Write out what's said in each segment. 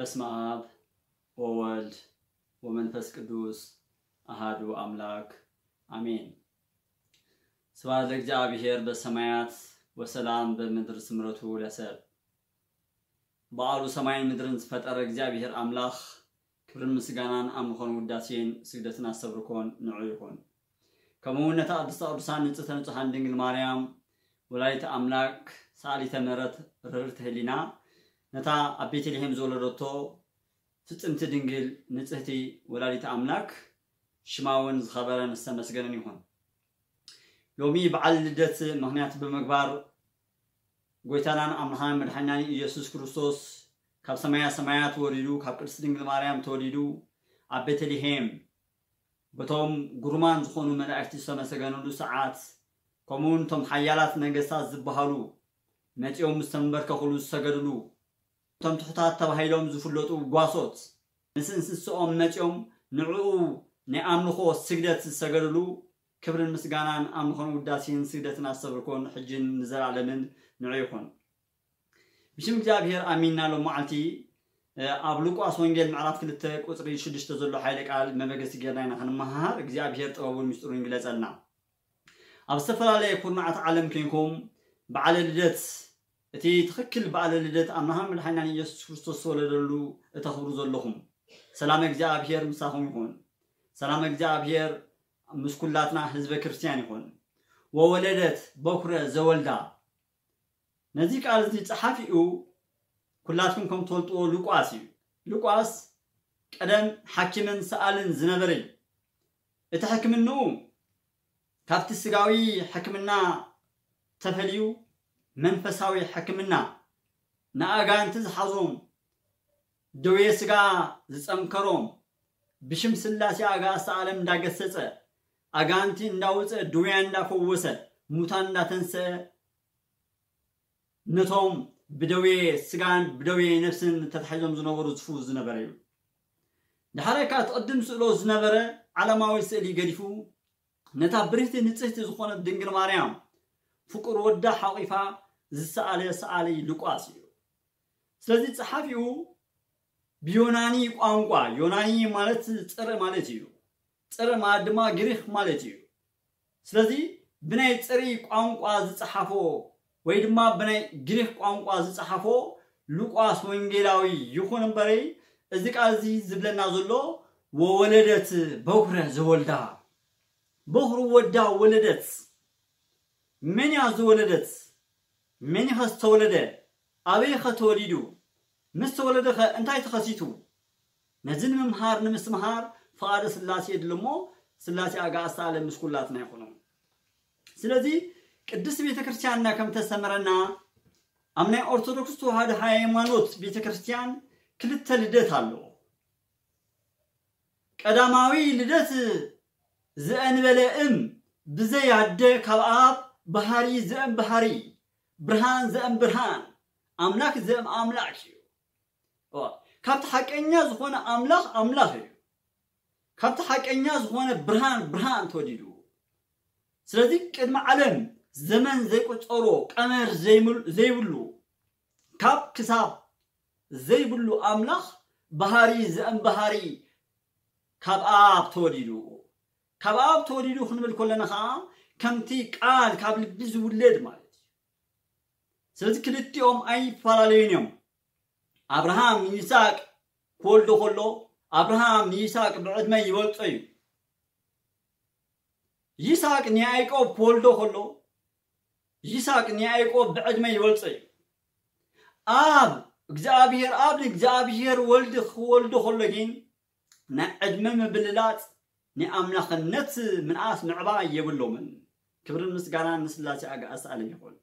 በስመ አብ ወወልድ ወመንፈስ ቅዱስ አሃዱ አምላክ አሜን። ስብሐት ለእግዚአብሔር በሰማያት ወሰላም በምድር ስምረቱ ለሰብ። በዓሉ ሰማይን ምድርን ዝፈጠረ እግዚኣብሔር ኣምላኽ ክብርን ምስጋናን ኣምልኾን ውዳሴን ስግደትን ኣስተብርኮን ንዑ ይኹን። ከምኡ እውን ነታ ቅድስተ ቅዱሳን ንጽሕተ ንጹሓን ድንግል ማርያም ወላዲተ ኣምላክ ሰኣሊተ ምሕረት ርህርት ህሊና ነታ ኣብ ቤተልሔም ዝወለደቶ ፍጽምቲ ድንግል ንጽህቲ ወላዲተ ኣምላክ ሽማ እውን ዝኸበረን ዝተመስገነን ይኹን። ሎሚ በዓል ልደት ምኽንያት ብምግባር ጎይታናን ኣምላኻን መድሓኒናን ኢየሱስ ክርስቶስ ካብ ሰማያ ሰማያት ወሪዱ ካብ ቅድስቲ ድንግል ማርያም ተወሊዱ ኣብ ቤተልሔም በቶም ግሩማን ዝኾኑ መላእክቲ ዝተመሰገነሉ ሰዓት ከምኡውን እቶም ሓያላት ነገስታት ዝበሃሉ መጺኦም ዝተንበርከኹሉ ዝሰገድሉ እቶም ትሑታት ተባሂሎም ዝፍለጡ ጓሶት ምስ እንስስኦም መጺኦም ንዕኡ ናይ ኣምልኾ ስግደት ዝሰገድሉ ክብርን ምስጋናን ኣምልኾን ውዳሴን ስግደትን ኣስተብርኮን ሕጅን ንዘላለምን ንዑ ይኹን። ብሽም እግዚኣብሔር ኣሚንና ሎም መዓልቲ ኣብ ሉቃስ ወንጌል ምዕራፍ ክልተ ቁፅሪ ሽዱሽተ ዘሎ ሓይለ ቃል መበገሲ ጌርና ኢና ክንመሃር። እግዚኣብሔር ጥበቡን ምስጢሩን ይግለጸልና። ኣብ ዝተፈላለየ ኩርናዓት ዓለም ኮይንኩም በዓለ ልደት እቲ ትኽክል በዓለ ልደት ኣምላኽን መድሓኒናን ኢየሱስ ክርስቶስ ዝተወለደሉ እተኽብሩ ዘለኹም ሰላም እግዚኣብሔር ምሳኹም ይኹን። ሰላም እግዚኣብሔር ምስ ኩላትና ህዝበ ክርስቲያን ይኹን። ወወለደት በኩረ ዘወልዳ ነዚ ቃል እዚ ጸሓፊኡ ኩላትኩም ከም ትፈልጥዎ ሉቃስ እዩ። ሉቃስ ቀደም ሓኪምን ሰኣልን ዝነበረ እዩ። እቲ ሕክምንኡ ካብቲ ስጋዊ ሕክምና ተፈልዩ መንፈሳዊ ሕክምና ንኣጋንንቲ ዝሓዞም ደዌ ስጋ ዝጸንከሮም ብሽም ስላሴ ኣጋእዝተ ዓለም እንዳገሰጸ ኣጋንንቲ እንዳወፀ ድውያን እንዳፈወሰ ሙታን እንዳተንሰአ ነቶም ብደዌ ስጋን ብደዌ ነፍስን ተታሒዞም ዝነበሩ ዝፍውስ ዝነበረ እዩ። ዳሕራይ ከዓ እቲ ቅድም ስእሎ ዝነበረ ዓለማዊ ስእሊ ገዲፉ ነታ ብርህቲ ንጽህቲ ዝኾነት ድንግል ማርያም ፍቁር ወዳ ሓቂፋ ዝሰኣለ ሰኣሊ ሉቃስ እዩ። ስለዚ ጸሓፊኡ ብዮናኒ ቋንቋ፣ ዮናኒ ማለት ጽርእ ማለት እዩ። ጽርእ ማለት ድማ ግሪኽ ማለት እዩ። ስለዚ ብናይ ጽርእ ቋንቋ ዝጸሓፎ ወይ ድማ ብናይ ግሪኽ ቋንቋ ዝጸሓፎ ሉቃስ ወንጌላዊ ይኹን እምበረይ እዚ ቃል እዚ ዝብለና ዘሎ ወወለደት በኩረ ዘወልዳ በኹሩ ወዳ ወለደት። መን እያ ዝወለደት? መን ኸ ዝተወለደ? ኣበይ ኸ ተወሊዱ? ምስ ተወለደ ኸ እንታይ ተኸሲቱ? ነዚ ንምምሃር ንምስትምሃር ፍቓደ ስላሴ የድሊ እሞ ስላሴ ኣጋእዝተ ዓለም ምስ ኩላትና ይኹኑ። ስለዚ ቅድስት ቤተ ክርስቲያንና ከም ተስተምረና ኣብ ናይ ኦርቶዶክስ ተዋህዶ ሃይማኖት ቤተ ክርስቲያን ክልተ ልደት ኣለዎ። ቀዳማዊ ልደት ዘእንበለ እም ብዘይ ኣደ ካብ ኣብ ባህሪ ዘእም ባህሪ ብርሃን ዘእም ብርሃን ኣምላክ ዘእም ኣምላክ እዩ። ካብቲ ሓቀኛ ዝኾነ ኣምላኽ ኣምላኽ እዩ። ካብቲ ሓቀኛ ዝኾነ ብርሃን ብርሃን ተወዲዱ። ስለዚ ቅድሚ ዓለም ዘመን ዘይቁጸሮ ቀመር ዘይብሉ ካብ ክሳብ ዘይብሉ ኣምላኽ ባህሪ ዘእም ባህሪ ካብ ኣብ ተወሊዱ። ካብ ኣብ ተወሊዱ ክንብል ከለና ከዓ ከምቲ ቃል ካብ ልቢ ዝውለድ ማለት እዩ። ስለዚ ክልቲኦም ኣይፈላለዩን እዮም። ኣብርሃም ንይስሐቅ ክወልዶ ከሎ ኣብርሃም ንይስሐቅ ብዕድመ ይበልጾ እዩ። ይስሐቅ ንያዕቆብ ክወልዶ ከሎ ይስሐቅ ንያዕቆብ ብዕድመ ይበልጾ እዩ። ኣብ እግዚኣብሔር ኣብ ንእግዚኣብሔር ወልድ ክወልዶ ከሎ ግን ናይ ዕድመ ምብልላጽ ናይ ኣምላኽነት ምንኣስ ምዕባይ የብሎምን። ክብርን ምስጋናን ንስላሴ ኣጋእዝተ ዓለም ይኹን።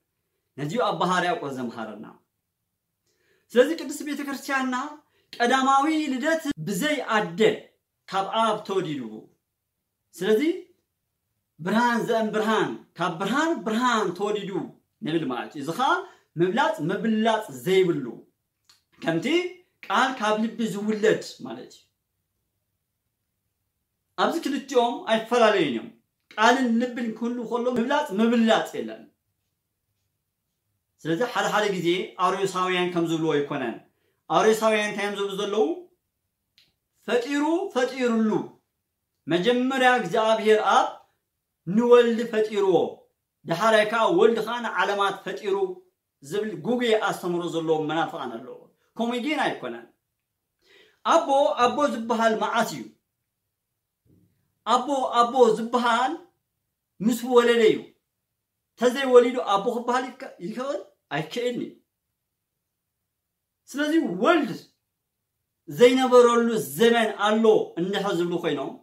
ነዚዩ ኣብ ባህርያቆስ ዘምሃረና። ስለዚ ቅድስት ቤተ ክርስቲያንና ቀዳማዊ ልደት ብዘይ ኣደ ካብ ኣብ ተወሊዱ። ስለዚ ብርሃን ዘእም ብርሃን ካብ ብርሃን ብርሃን ተወሊዱ ንብል ማለት እዩ። እዚ ከዓ ምብላፅ ምብላፅ ዘይብሉ ከምቲ ቃል ካብ ልቢ ዝውለድ ማለት እዩ። ኣብዚ ክልቲኦም ኣይፈላለዩን እዮም። ቃልን ልብን ክህሉ ከሎ ምብላፅ ምብላፅ የለን። ስለዚ ሓደ ሓደ ግዜ ኣርዮሳውያን ከም ዝብልዎ ኣይኮነን። ኣርዮሳውያን እንታይ እዮም ዝብሉ ዘለዉ? ፈጢሩ ፈጢሩሉ። መጀመርያ እግዚኣብሔር ኣብ ንወልድ ፈጢርዎ፣ ደሓራይ ከዓ ወልድ ከዓ ንዓለማት ፈጢሩ ዝብል ጉጉይ ኣስተምሮ ዘለዎም መናፍቃን ኣለዉ። ከምኡ ግን ኣይኮነን። ኣቦ ኣቦ ዝበሃል መዓስ እዩ? ኣቦ ኣቦ ዝበሃል ምስ ወለደ እዩ። ተዘይወሊዱ ኣቦ ክበሃል ይከ- ይኽእል? ኣይክእልን እዩ። ስለዚ ወልድ ዘይነበረሉ ዘመን ኣሎ እንድሕር ዝብሉ ኮይኖም፣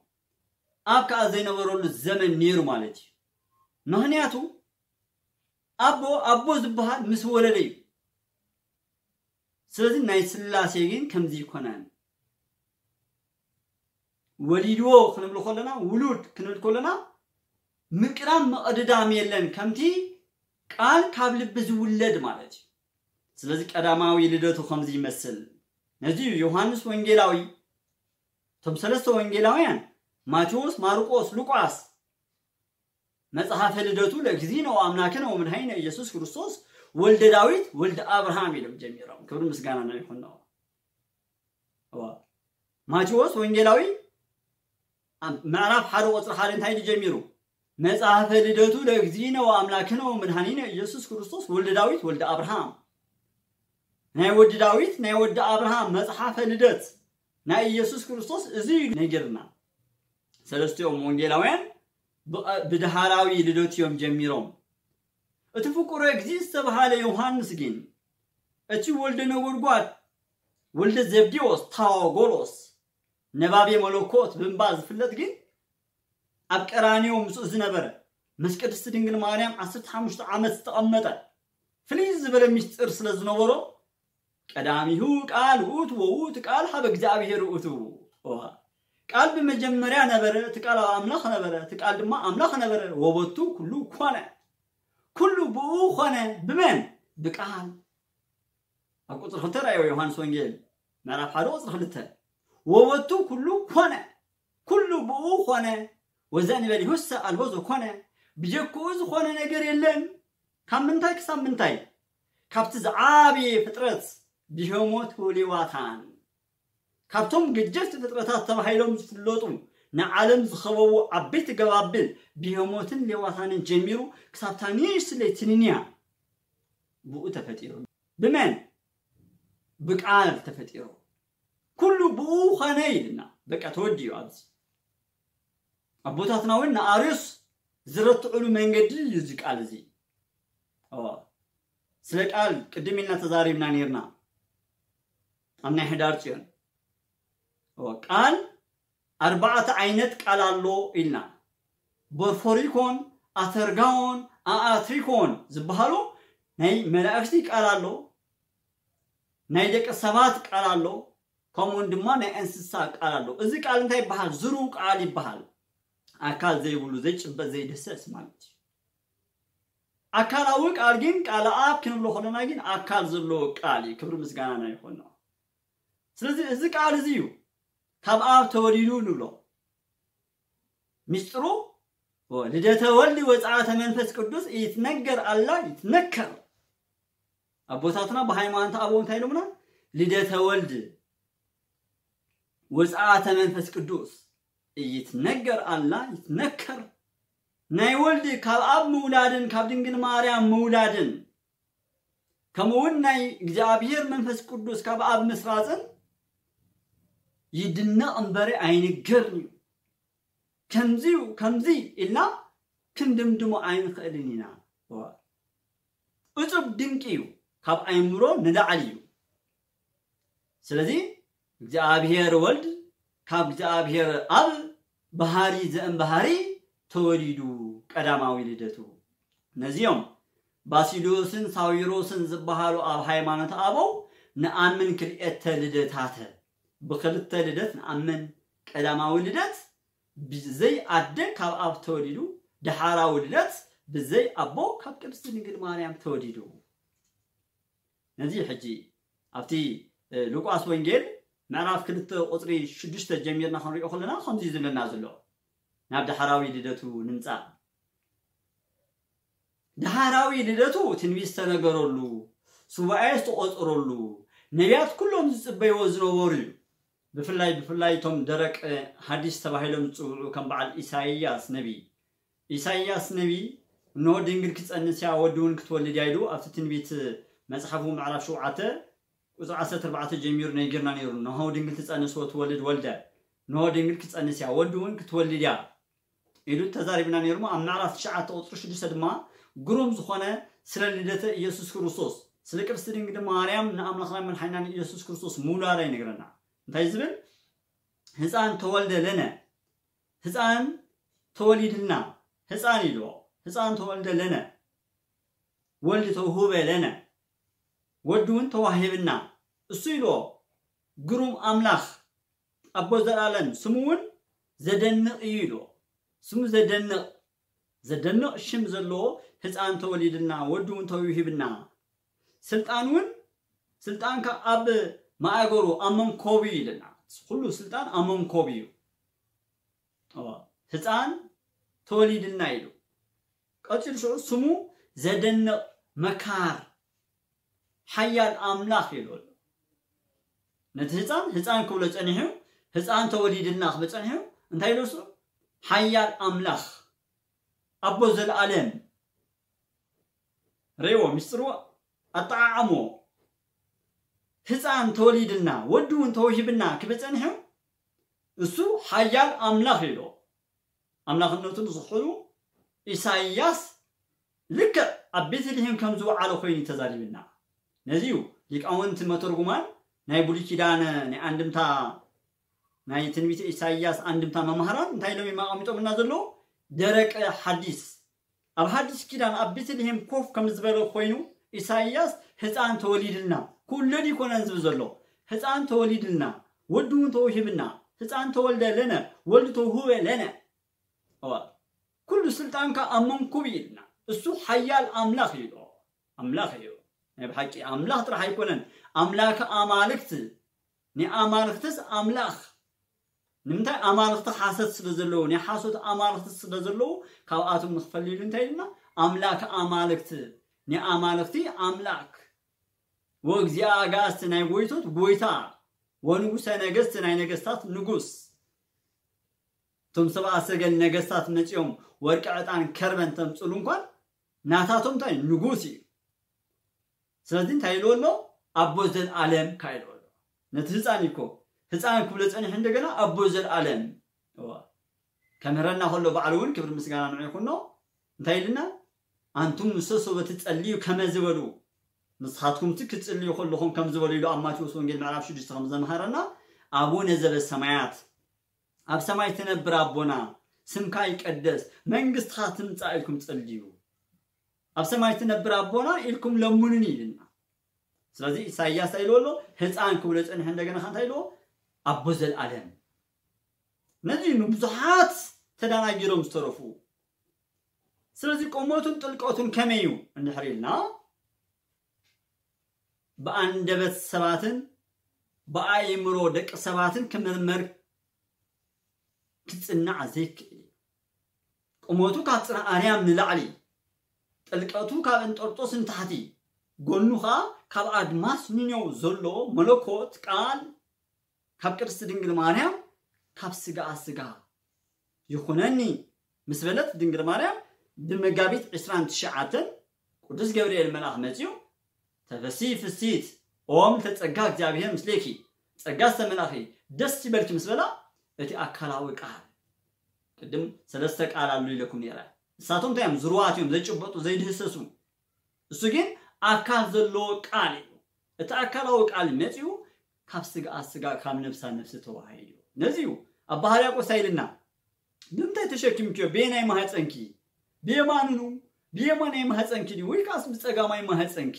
ኣብ ከዓ ዘይነበረሉ ዘመን ነይሩ ማለት እዩ። ምክንያቱ ኣቦ ኣቦ ዝበሃል ምስ ወለደ እዩ። ስለዚ ናይ ስላሴ ግን ከምዚ ይኮነን። ወሊድዎ ክንብል ከለና፣ ውሉድ ክንብል ከለና ምቅዳም መቕድዳም የለን፣ ከምቲ ቃል ካብ ልቢ ዝውለድ ማለት እዩ። ስለዚ ቀዳማዊ ልደቱ ከምዚ ይመስል። ነዚ እዩ ዮሃንስ ወንጌላዊ፣ እቶም ሰለስተ ወንጌላውያን ማቴዎስ፣ ማርቆስ፣ ሉቃስ መጽሐፈ ልደቱ ለእግዚእነ ወአምላክነ ወመድኃኒነ ኢየሱስ ክርስቶስ ወልደ ዳዊት ወልደ አብርሃም ኢሎም ጀሚሮም። ክብሪ ምስጋና ናይ ይኹን። ማቴዎስ ወንጌላዊ ምዕራፍ ሓደ ቁፅሪ ሓደ እንታይ ጀሚሩ? መጽሐፈ ልደቱ ለእግዚእነ ወአምላክነ ወመድኃኒነ ኢየሱስ ክርስቶስ ወልደ ዳዊት ወልደ አብርሃም። ናይ ወዲ ዳዊት ናይ ወዲ አብርሃም መጽሐፈ ልደት ናይ ኢየሱስ ክርስቶስ እዚ እዩ ነጊርና። ሰለስቲኦም ወንጌላውያን ብደሃራዊ ልደት እዮም ጀሚሮም። እቲ ፍቁረ እግዚእ ዝተባሃለ ዮሃንስ ግን እቲ ወልደ ነጎድጓድ ወልደ ዘብዴዎስ ታዋጎሎስ ነባቤ መለኮት ብምባል ዝፍለጥ ግን ኣብ ቀራንዮ ምስኡ ዝነበረ ምስ ቅድስቲ ድንግል ማርያም ዓሰርተ ሓሙሽተ ዓመት ዝተቐመጠ ፍልይ ዝበለ ምስጢር ስለ ዝነበሮ ቀዳሚሁ ቃል ውእቱ ወውእቱ ቃል ሀበ እግዚኣብሔር ውእቱ። ቃል ብመጀመርያ ነበረ፣ እቲ ቃል ኣብ ኣምላኽ ነበረ፣ እቲ ቃል ድማ ኣምላኽ ነበረ። ወበቱ ኩሉ ኮነ፣ ኩሉ ብኡ ኮነ። ብመን? ብቃል። ኣብ ቁፅሪ ክልተ ራእዮ ዮሃንስ ወንጌል ምዕራፍ ሓደ ቁፅሪ ክልተ ወበቱ ኩሉ ኮነ፣ ኩሉ ብኡ ኮነ። ወዘእንበሌሁሰ አልቦ ዘኮነ፣ ብጀክኡ ዝኾነ ነገር የለን። ካብ ምንታይ ክሳብ ምንታይ? ካብቲ ዝዓበየ ፍጥረት ብሄሞት ወሌዋታን፣ ካብቶም ገጀፍቲ ፍጥረታት ተባሂሎም ዝፍለጡ ንዓለም ዝኸበቡ ዓበይቲ ገባብል ብሄሞትን ሌዋታንን ጀሚሩ ክሳብታ ንእሽትለይ ትንንያ ብኡ ተፈጢሩ። ብመን? ብቃል ተፈጢሩ። ኩሉ ብኡ ኾነ ኢልና በቃ ተወዲኡ። ኣብዚ ኣቦታትና እውን ንኣርዮስ ዝረትዕሉ መንገዲ እዩ እዚ ቃል እዚ። ስለ ቃል ቅድም ኢልና ተዛሪብና ነርና ኣብ ናይ ሕዳር ፅዮን። ቃል ኣርባዕተ ዓይነት ቃል ኣሎ ኢልና። ቦርፎሪኮን፣ ኣተርጋዎን፣ ኣኣትሪኮን ዝበሃሉ ናይ መላእክቲ ቃል ኣሎ፣ ናይ ደቂ ሰባት ቃል ኣሎ፣ ከምኡውን ድማ ናይ እንስሳ ቃል ኣሎ። እዚ ቃል እንታይ ይበሃል? ዝሩው ቃል ይበሃል። ኣካል ዘይብሉ፣ ዘይጭበጥ፣ ዘይድህሰስ ማለት እዩ። ኣካላዊ ቃል ግን ቃል ኣብ ክንብሎ ከለና ግን ኣካል ዘለዎ ቃል እዩ። ክብሪ ምስጋና ናይ ይኾኖ። ስለዚ እዚ ቃል እዚ እዩ ካብ ኣብ ተወሊዱ ንብሎ። ሚስጥሩ ልደተ ወልድ ወፅዓተ መንፈስ ቅዱስ ይትነገር ኣላ ይትነከር። ኣቦታትና ብሃይማኖት ኣበው እንታይ ኢሎምና? ልደተ ወልድ ወፅዓተ መንፈስ ቅዱስ ይትነገር ኣላ ይትነከር። ናይ ወልድ ካብ ኣብ ምውላድን ካብ ድንግል ማርያም ምውላድን ከምኡ እውን ናይ እግዚኣብሔር መንፈስ ቅዱስ ካብ ኣብ ምስራፅን ይድነቕ እምበሪ ኣይንገርን እዩ። ከምዚዩ ከምዚ ኢልና ክንድምድሞ ኣይንኽእልን ኢና። እጹብ ድንቂ እዩ፣ ካብ ኣእምሮ ንላዕሊ እዩ። ስለዚ እግዚኣብሔር ወልድ ካብ እግዚኣብሔር ኣብ ባህሪ ዘእም ባህሪ ተወሊዱ ቀዳማዊ ልደቱ። ነዚኦም ባሲሊዮስን ሳዊሮስን ዝበሃሉ ኣብ ሃይማኖት ኣበው ንኣምን ክልኤተ ልደታተ። ብክልተ ልደት ንኣምን። ቀዳማዊ ልደት ብዘይ ኣደ ካብ ኣብ ተወሊዱ፣ ደሓራዊ ልደት ብዘይ ኣቦ ካብ ቅድስቲ ድንግል ማርያም ተወሊዱ። ነዚ ሕጂ ኣብቲ ሉቃስ ወንጌል ምዕራፍ ክልተ ቁፅሪ ሽዱሽተ ጀሚርና ክንሪኦ ከለና ከምዚ ዝብለና ዘሎ። ናብ ደሓራዊ ልደቱ ንምፃእ። ደሓራዊ ልደቱ ትንቢት ዝተነገረሉ፣ ሱባኤ ዝተቆፀረሉ፣ ነቢያት ኩሎም ዝጽበይዎ ዝነበሩ እዩ። ብፍላይ ብፍላይ እቶም ደረቅ ሐዲስ ተባሂሎም ዝጽውዑ ከም በዓል ኢሳይያስ ነቢ። ኢሳይያስ ነቢ፣ እንሆ ድንግል ክትጸንስ እያ፣ ወዲ እውን ክትወልድ እያ ኢሉ ኣብቲ ትንቢት መጽሓፉ ምዕራፍ ሸውዓተ ቁጽሪ ዓሰርተ ኣርባዕተ ጀሚሩ ነጊርና ነይሩ። እንሆ ድንግል ትጸንስ ወትወልድ ወልደ፣ እንሆ ድንግል ክትጸንስ እያ፣ ወዲ እውን ክትወልድ እያ ኢሉ ተዛሪብና ነይሩ። ኣብ ምዕራፍ ትሽዓተ ቁጽሪ ሽዱሽተ ድማ ግሩም ዝኾነ ስለ ልደተ ኢየሱስ ክርስቶስ፣ ስለ ቅድስቲ ድንግል ማርያም ንኣምላኽና መድሓኒና ንኢየሱስ ክርስቶስ ምውላዳ ይነግረና። እንታይ ዝብል? ህፃን ተወልደ ለነ፣ ህፃን ተወሊድልና፣ ህፃን ኢልዎ፣ ህፃን ተወልደ ለነ፣ ወልድ ተውህበ ለነ፣ ወዲ እውን ተዋሂብና፣ እሱ ኢልዎ፣ ግሩም ኣምላኽ፣ ኣቦ ዘላለም፣ ስሙ እውን ዘደንቕ እዩ ኢልዎ። ስሙ ዘደንቕ፣ ዘደንቕ ሽም ዘለዎ ህፃን ተወሊድልና፣ ወዲ እውን ተውሂብና፣ ስልጣን እውን፣ ስልጣንካ ኣብ ማእገሩ፣ ኣብ መንኮቡ እዩ ኢልና። ኩሉ ስልጣን ኣብ መንኮቡ እዩ። እዎ፣ ህፃን ተወሊድልና ኢሉ። ቀፂሉ ሽዑ ስሙ ዘደንቕ መካር ሓያል ኣምላኽ ኢሉ ኣሎ። ነቲ ህፃን ህፃን ክብሎ ጸኒሑ፣ ህፃን ተወሊድልና ክብል ጸኒሑ፣ እንታይ ኢሉ እሱ? ሓያል ኣምላኽ፣ ኣቦ ዘለኣለም። ርእይዎ፣ ምስጢርዎ፣ ኣጠዓዓምዎ። ህፃን ተወሊድልና፣ ወዲ እውን ተወሂብና ክብል ጸኒሑ፣ እሱ ሓያል ኣምላኽ ኢሉ። ኣምላኽነቱ ንዝኽሕሉ ኢሳይያስ ልክዕ ኣብ ቤተልሔም ከም ዝወዓለ ኮይኑ እዩ ተዛሪብና። ነዚ እዩ ሊቃውንቲ መተርጉማን ናይ ብሉይ ኪዳን ናይ ኣንድምታ፣ ናይ ትንቢተ ኢሳይያስ ኣንድምታ መማህራን እንታይ ኢሎም እዮም ኣቐሚጦምልና ዘለዉ? ደረቀ ሓዲስ። ኣብ ሓዲስ ኪዳን ኣብ ቤተልሔም ኮፍ ከም ዝበለ ኮይኑ ኢሳይያስ ህፃን ተወሊድልና፣ ክውለድ ይኮነን ዝብል ዘሎ፣ ህፃን ተወሊድልና፣ ወዲ እውን ተውሂብና፣ ህፃን ተወልደ ለነ፣ ወልድ ተውህበ ለነ። እዋ፣ ኩሉ ስልጣንካ ኣብ መንኩብ ኢልና። እሱ ሓያል ኣምላኽ እዩ። ኣምላኽ እዩ። ናይ ብሓቂ ኣምላኽ ጥራሕ ኣይኮነን። ኣምላክ ኣማልክት፣ ናይ ኣማልክትስ ኣምላኽ። ንምንታይ? ኣማልኽቲ ሓሰት ስለ ዘለዉ፣ ናይ ሓሶት ኣማልኽቲ ስለ ዘለዉ፣ ካብኣቶም ንኽፈሊ ኢሉ እንታይ ኢልና? ኣምላክ ኣማልክት፣ ናይ ኣማልኽቲ ኣምላክ፣ ወእግዚኣ ኣጋእዝቲ፣ ናይ ጎይቶት ጎይታ፣ ወንጉሰ ነገስት፣ ናይ ነገስታት ንጉስ። እቶም ሰብኣ ሰገል ነገስታት መጺኦም ወርቂ፣ ዕጣን፣ ከርበን ተምጽሉ እንኳን ናታቶም እንታይ ንጉስ እዩ። ስለዚ እንታይ ኢልዎ ኣሎ? ኣቦ ዘልኣለም ካ ኢልዎ ኣሎ። ነቲ ህፃን እኮ ህፃን ክብሎ ጸኒሑ እንደገና ኣቦ ዘልኣለም። እዋ። ከምህረና ከሎ ባዕሉ እውን ክብሪ ምስጋና ንዑ ይኹኖ። እንታይ ኢልና? ኣንቱም ንሰሶ በቲ ጸልዩ ከመ ዝበሉ፣ ንስኻትኩም እቲ ክትጽልዩ ከለኹም ከም ዝበሉ ኢሉ ኣብ ማቴዎስ ወንጌል ምዕራፍ ሽዱሽተ ከም ዘምሃረና፣ ኣቡነ ዘበሰማያት፣ ኣብ ሰማይ ትነብር ኣቦና፣ ስምካ ይቀደስ፣ መንግስትኻ ትምጻእ ኢልኩም ጸልዩ። ኣብ ሰማይ ትነብር ኣቦና ኢልኩም ለምኑኒ ኢልና። ስለዚ ኢሳይያስ እንታይ ኢልዎ ኣሎ? ህፃን ክብሎ ጸኒሑ እንደገና ከ እንታይ ኢልዎ? ኣቦ ዘልኣለም። ነዚ እዩ ንብዙሓት ተደናጊሮም ዝተረፉ። ስለዚ ቁመቱን ጥልቀቱን ከመይ እዩ እንድሕር ኢልና፣ ብኣንደበት ሰባትን ብኣእምሮ ደቂ ሰባትን ክምርመር ክጽናዕ ዘይክእል እዩ። ቁመቱ ካብ ጽርሐ ኣርያም ንላዕሊ፣ ጥልቀቱ ካብ እንጠርጦስ ንታሕቲ፣ ጎኑ ኸኣ ካብ ኣድማስ ንኔው ዘሎ መለኮት ቃል ካብ ቅድስቲ ድንግል ማርያም ካብ ስጋኣ ስጋ ይኹነኒ ምስ በለት ድንግል ማርያም ብመጋቢት ዕስራን ትሽዓተን ቅዱስ ገብርኤል መልኣኽ መጺኡ፣ "ተፈሲ ፍሲት ኦም ተጸጋ እግዚኣብሔር ምስሌኪ፣ ጸጋ ዝተመልኣኺ ደስ ይበልኪ" ምስ በላ፣ እቲ ኣካላዊ ቃል፣ ቅድም ሰለስተ ቃል ኣሎ ኢለኩም ነይረ። ንሳቶም እንታይ እዮም? ዝርዋት እዮም፣ ዘይጭበጡ፣ ዘይድህሰሱ። እሱ ግን ኣካል ዘለዎ ቃል እዩ። እቲ ኣካላዊ ቃል መጺኡ ካብ ስጋኣ ስጋ፣ ካብ ነፍሳ ነፍሲ ተዋሂዱ። ነዚ እዩ ኣባ ሕርያቆስ ኢልና፣ "ብምንታይ ተሸኪምክዮ? ብየናይ ማህፀንኪ? ብየማንኑ ብየማናይ ማህፀንኪ ድዩ ወይ ከኣስ ብፀጋማይ ማህፀንኪ?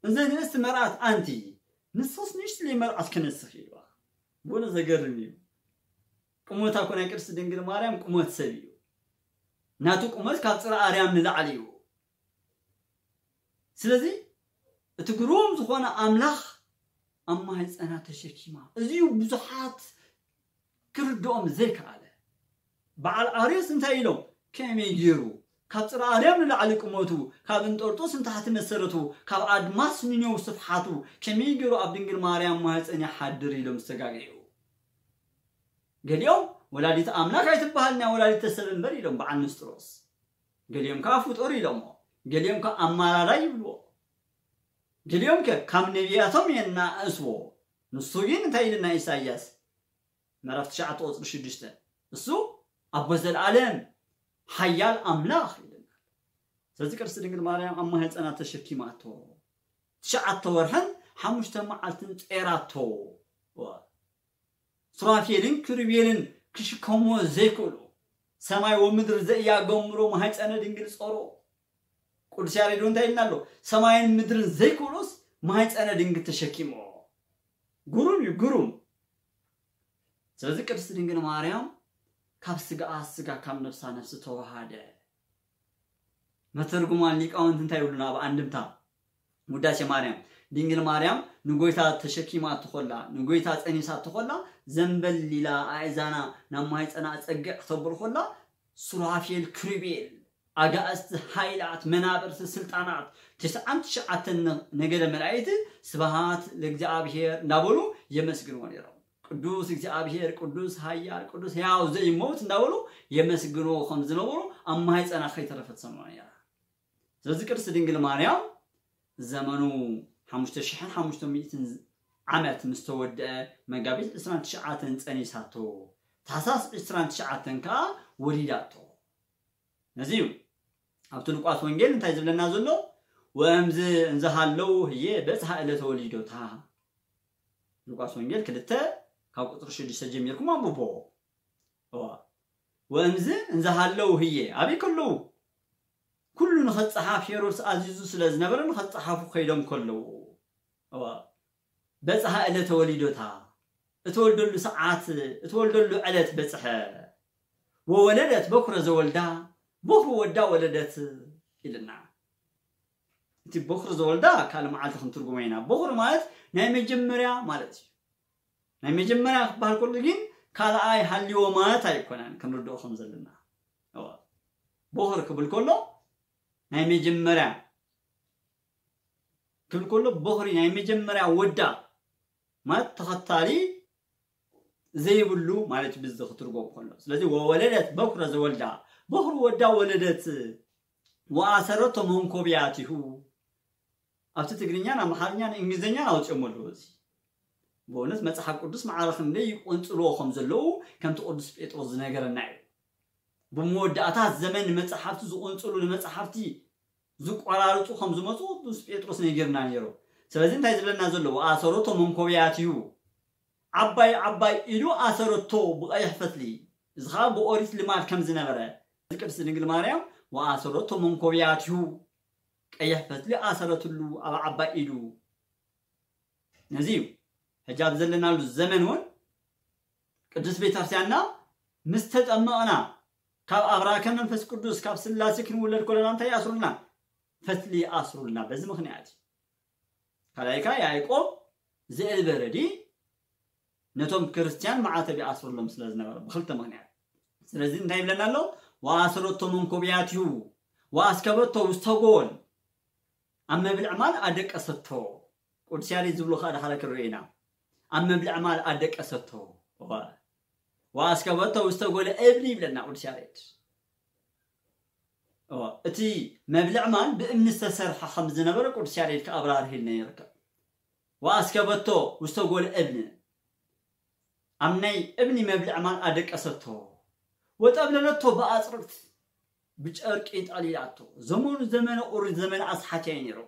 እንዘ ንእስቲ መርኣት ኣንቲ፣ ንስኽስ ንእሽትለይ መርኣት ክነስኽ" ኢልዋ። ብእውነት ዘገርም እዩ። ቁመታ እኮ ናይ ቅድስቲ ድንግል ማርያም ቁመት ሰብ እዩ። ናቱ ቁመት ካብ ጽርሐ ኣርያም ንላዕሊ እዩ። ስለዚ እቲ ግሩም ዝኾነ ኣምላኽ ኣብ ማህፀና ተሸኪማ። እዚ እዩ ብዙሓት ክርድኦም ዘይከኣለ። በዓል ኣርዮስ እንታይ ኢሎም? ከመይ ገይሩ? ካብ ጽርኣርያም ንላዕሊ ቁመቱ፣ ካብ እንጦርጦስ ንታሕቲ መሰረቱ፣ ካብ ኣድማስ ንኔው ስፍሓቱ፣ ከመይ ገይሩ ኣብ ድንግል ማርያም ማህፀን ይሓድር ኢሎም ዝተጋገዩ። ገሊኦም ወላዲት ኣምላክ ኣይትበሃል ናይ ወላዲተ ሰብ እምበር ኢሎም በዓል ንስጥሮስ። ገሊኦም ከዓ ፍጡር ኢሎሞ። ገሊኦም ከዓ ኣማራራይ ይብልዎ። ገሊኦም ከ ካብ ነቢያቶም የናእስዎ። ንሱ ግን እንታይ ኢልና ኢሳያስ ምዕራፍ ትሽዓተ ቁፅሪ ሽዱሽተ፣ እሱ ኣቦ ዘለኣለም ሓያል ኣምላኽ ኢልና። ስለዚ ቅድስቲ ድንግል ማርያም ኣብ ማህፀና ተሸኪማቶ ትሽዓተ ወርሕን ሓሙሽተ መዓልትን ጸራቶ። ሱራፌልን ክሩቤልን ክሽከሞ ዘይክእሉ ሰማይ ወምድር ዘእያገምሮ ማህፀነ ድንግል ጸሮ። ቅዱስ ያሬድ እንታይ ኢልና ኣሎ? ሰማይን ምድርን ዘይክእሉስ ማህፀነ ድንግል ተሸኪሞ። ግሩም እዩ፣ ግሩም። ስለዚ ቅድስቲ ድንግል ማርያም ካብ ስጋኣ ስጋ ካብ ነፍሳ ነፍሲ ተዋሃደ። መተርጉማን ሊቃውንት እንታይ ይብሉና ኣብ ኣንድምታ ውዳሴ ማርያም? ድንግል ማርያም ንጎይታ ተሸኪማ ትኾላ፣ ንጎይታ ጸኒሳ ትኾላ፣ ዘንበል ኢላ ኣእዛና ናብ ማህፀና ጸግዕ ክተብል ኮላ፣ ሱራፌል ክሩቤል፣ ኣጋእዝቲ፣ ሃይላት፣ መናብርቲ፣ ስልጣናት፣ ትስዓን ትሽዓተን ነገደ መላእክት ስብሃት ለእግዚኣብሔር እንዳበሉ የመስግንዎ ነይሮም። ቅዱስ እግዚኣብሔር፣ ቅዱስ ሃያል፣ ቅዱስ ሕያው ዘይመውት እንዳበሉ የመስግንዎ ከም ዝነበሩ ኣብ ማህፀና ከይተረፈት ሰምዑ ነይራ። ስለዚ ቅድስቲ ድንግል ማርያም ዘመኑ ሓሙሽተ ሽሕን ሓሙሽተ ሚእትን ዓመት ምስ ተወድአ መጋቢት ዕስራን ትሽዓተን ጸኒሳቶ፣ ታሕሳስ ዕስራን ትሽዓተን ከኣ ወሊዳቶ። ነዚ እዩ ኣብቲ ሉቃስ ወንጌል እንታይ ዝብለና ዘሎ? ወእምዝ እንዘሃለው ህዬ በጽሐ ዕለተ ወሊዶታ። ሉቃስ ወንጌል ክልተ ካብ ቁፅሪ ሽዱሽተ ጀሚርኩም ኣንብቦ። እዋ። ወእምዝ እንዘሃለው ህዬ ኣበይ ከለዉ? ኩሉ ንኸፀሓፍ ሄሮድስ ኣዚዙ ስለ ዝነበረ ንኸፀሓፉ ከይዶም ከለዉ። እዋ። በጽሐ ዕለተ ወሊዶታ፣ እተወልደሉ ሰዓት፣ እተወልደሉ ዕለት በጽሐ። ወወለደት በኩረ ዘወልዳ፣ በኩር ወዳ ወለደት ኢልና። እቲ በኩር ዘወልዳ ካልእ መዓልቲ ክንትርጉሞ ኢና። በኩር ማለት ናይ መጀመርያ ማለት እዩ። ናይ መጀመርያ ክበሃል ከሎ ግን ካልኣይ ሃልይዎ ማለት ኣይኮነን፣ ክንርድኦ ከም ዘለና። እዋ። በኩር ክብል ከሎ ናይ መጀመርያ ክብል ከሎ በኹሪ ናይ መጀመርያ ወዳ ማለት ተኸታሊ ዘይብሉ ማለት እዩ ብዚ ክትርጎም ከሎ። ስለዚ ወወለደት በኩረ ዘወልዳ፣ በኹሪ ወዳ ወለደት፣ ወአሰረቶ መንኮብያቲሁ። ኣብቲ ትግርኛን ኣምሓርኛን እንግሊዝኛን ኣውፅኦም ኣለዉ። እዚ ብእውነት መፅሓፍ ቅዱስ ማዕረ ክንደይ ይቆንፅልዎ ከም ዘለዉ ከምቲ ቅዱስ ጴጥሮስ ዝነገረና እዩ። ብመወዳእታ ዘመን ንመፅሓፍቲ ዝቆንፅሉ ንመፅሓፍቲ ዝቆራርፁ ከም ዝመፁ ቅዱስ ጴጥሮስ ነጊርና ነይሩ። ስለዚ እንታይ ዝብለና ዘሎ? ወአሰረቶ መንኮብያቲሁ፣ ዓባይ ዓባይ ኢዱ ኣሰረቶ ብቐይሕ ፈትሊ። እዚ ኸዓ ብኦሪት ልማድ ከም ዝነበረ፣ እዚ ቅድስቲ ድንግል ማርያም ወአሰረቶ መንኮብያቲሁ፣ ቀይሕ ፈትሊ ኣሰረትሉ ኣብ ዓባይ ኢዱ። ነዚ እዩ ሕጂ ኣብ ዘለናሉ ዘመን እውን ቅዱስ ቤተክርስቲያንና ምስ ተጠመቕና ካብ ኣብራከ መንፈስ ቅዱስ ካብ ስላሴ ክንውለድ ከለና እንታይ ይኣስሩልና? ፈትሊ ይኣስሩልና። በዚ ምኽንያት እዩ። ካልኣይ ከኣ ያዕቆብ ዘእልበረዲ ነቶም ክርስትያን ማዕተብ ይኣስሩሎም ስለ ዝነበረ ብክልተ ምኽንያት። ስለዚ እንታይ ይብለና ኣሎ? ወአሰረቶ መንኮብያቲሁ ወአስከበቶ ውስተ ጎል፣ ኣብ መብልዕ ማል ኣደቀሰቶ። ቅዱስ ያሬድ ዝብሎ ከኣ ዳሕረ ክንርኢ ኢና። ኣብ መብልዕ ማል ኣደቀሰቶ። እዋ። ወአስከበቶ ውስተ ጎለ እብኒ ይብለና ቅዱስ ያሬድ። እዋ። እቲ መብልዕ ማል ብእምኒ ዝተሰርሐ ከም ዝነበረ ቅዱስ ያሬድ ከኣብራርህልና ይርከብ። ወአስከበቶ ውስተ ጎለ እብኒ፣ ኣብ ናይ እብኒ መብልዕ ማል ኣደቀሰቶ። ወጠብለለቶ ብኣጽርቅት፣ ብጨርቂ ጠሊላቶ። ዘመኑ ዘመነ ኦሪት ዘመነ ኣስሓት እዩ ነይሩ።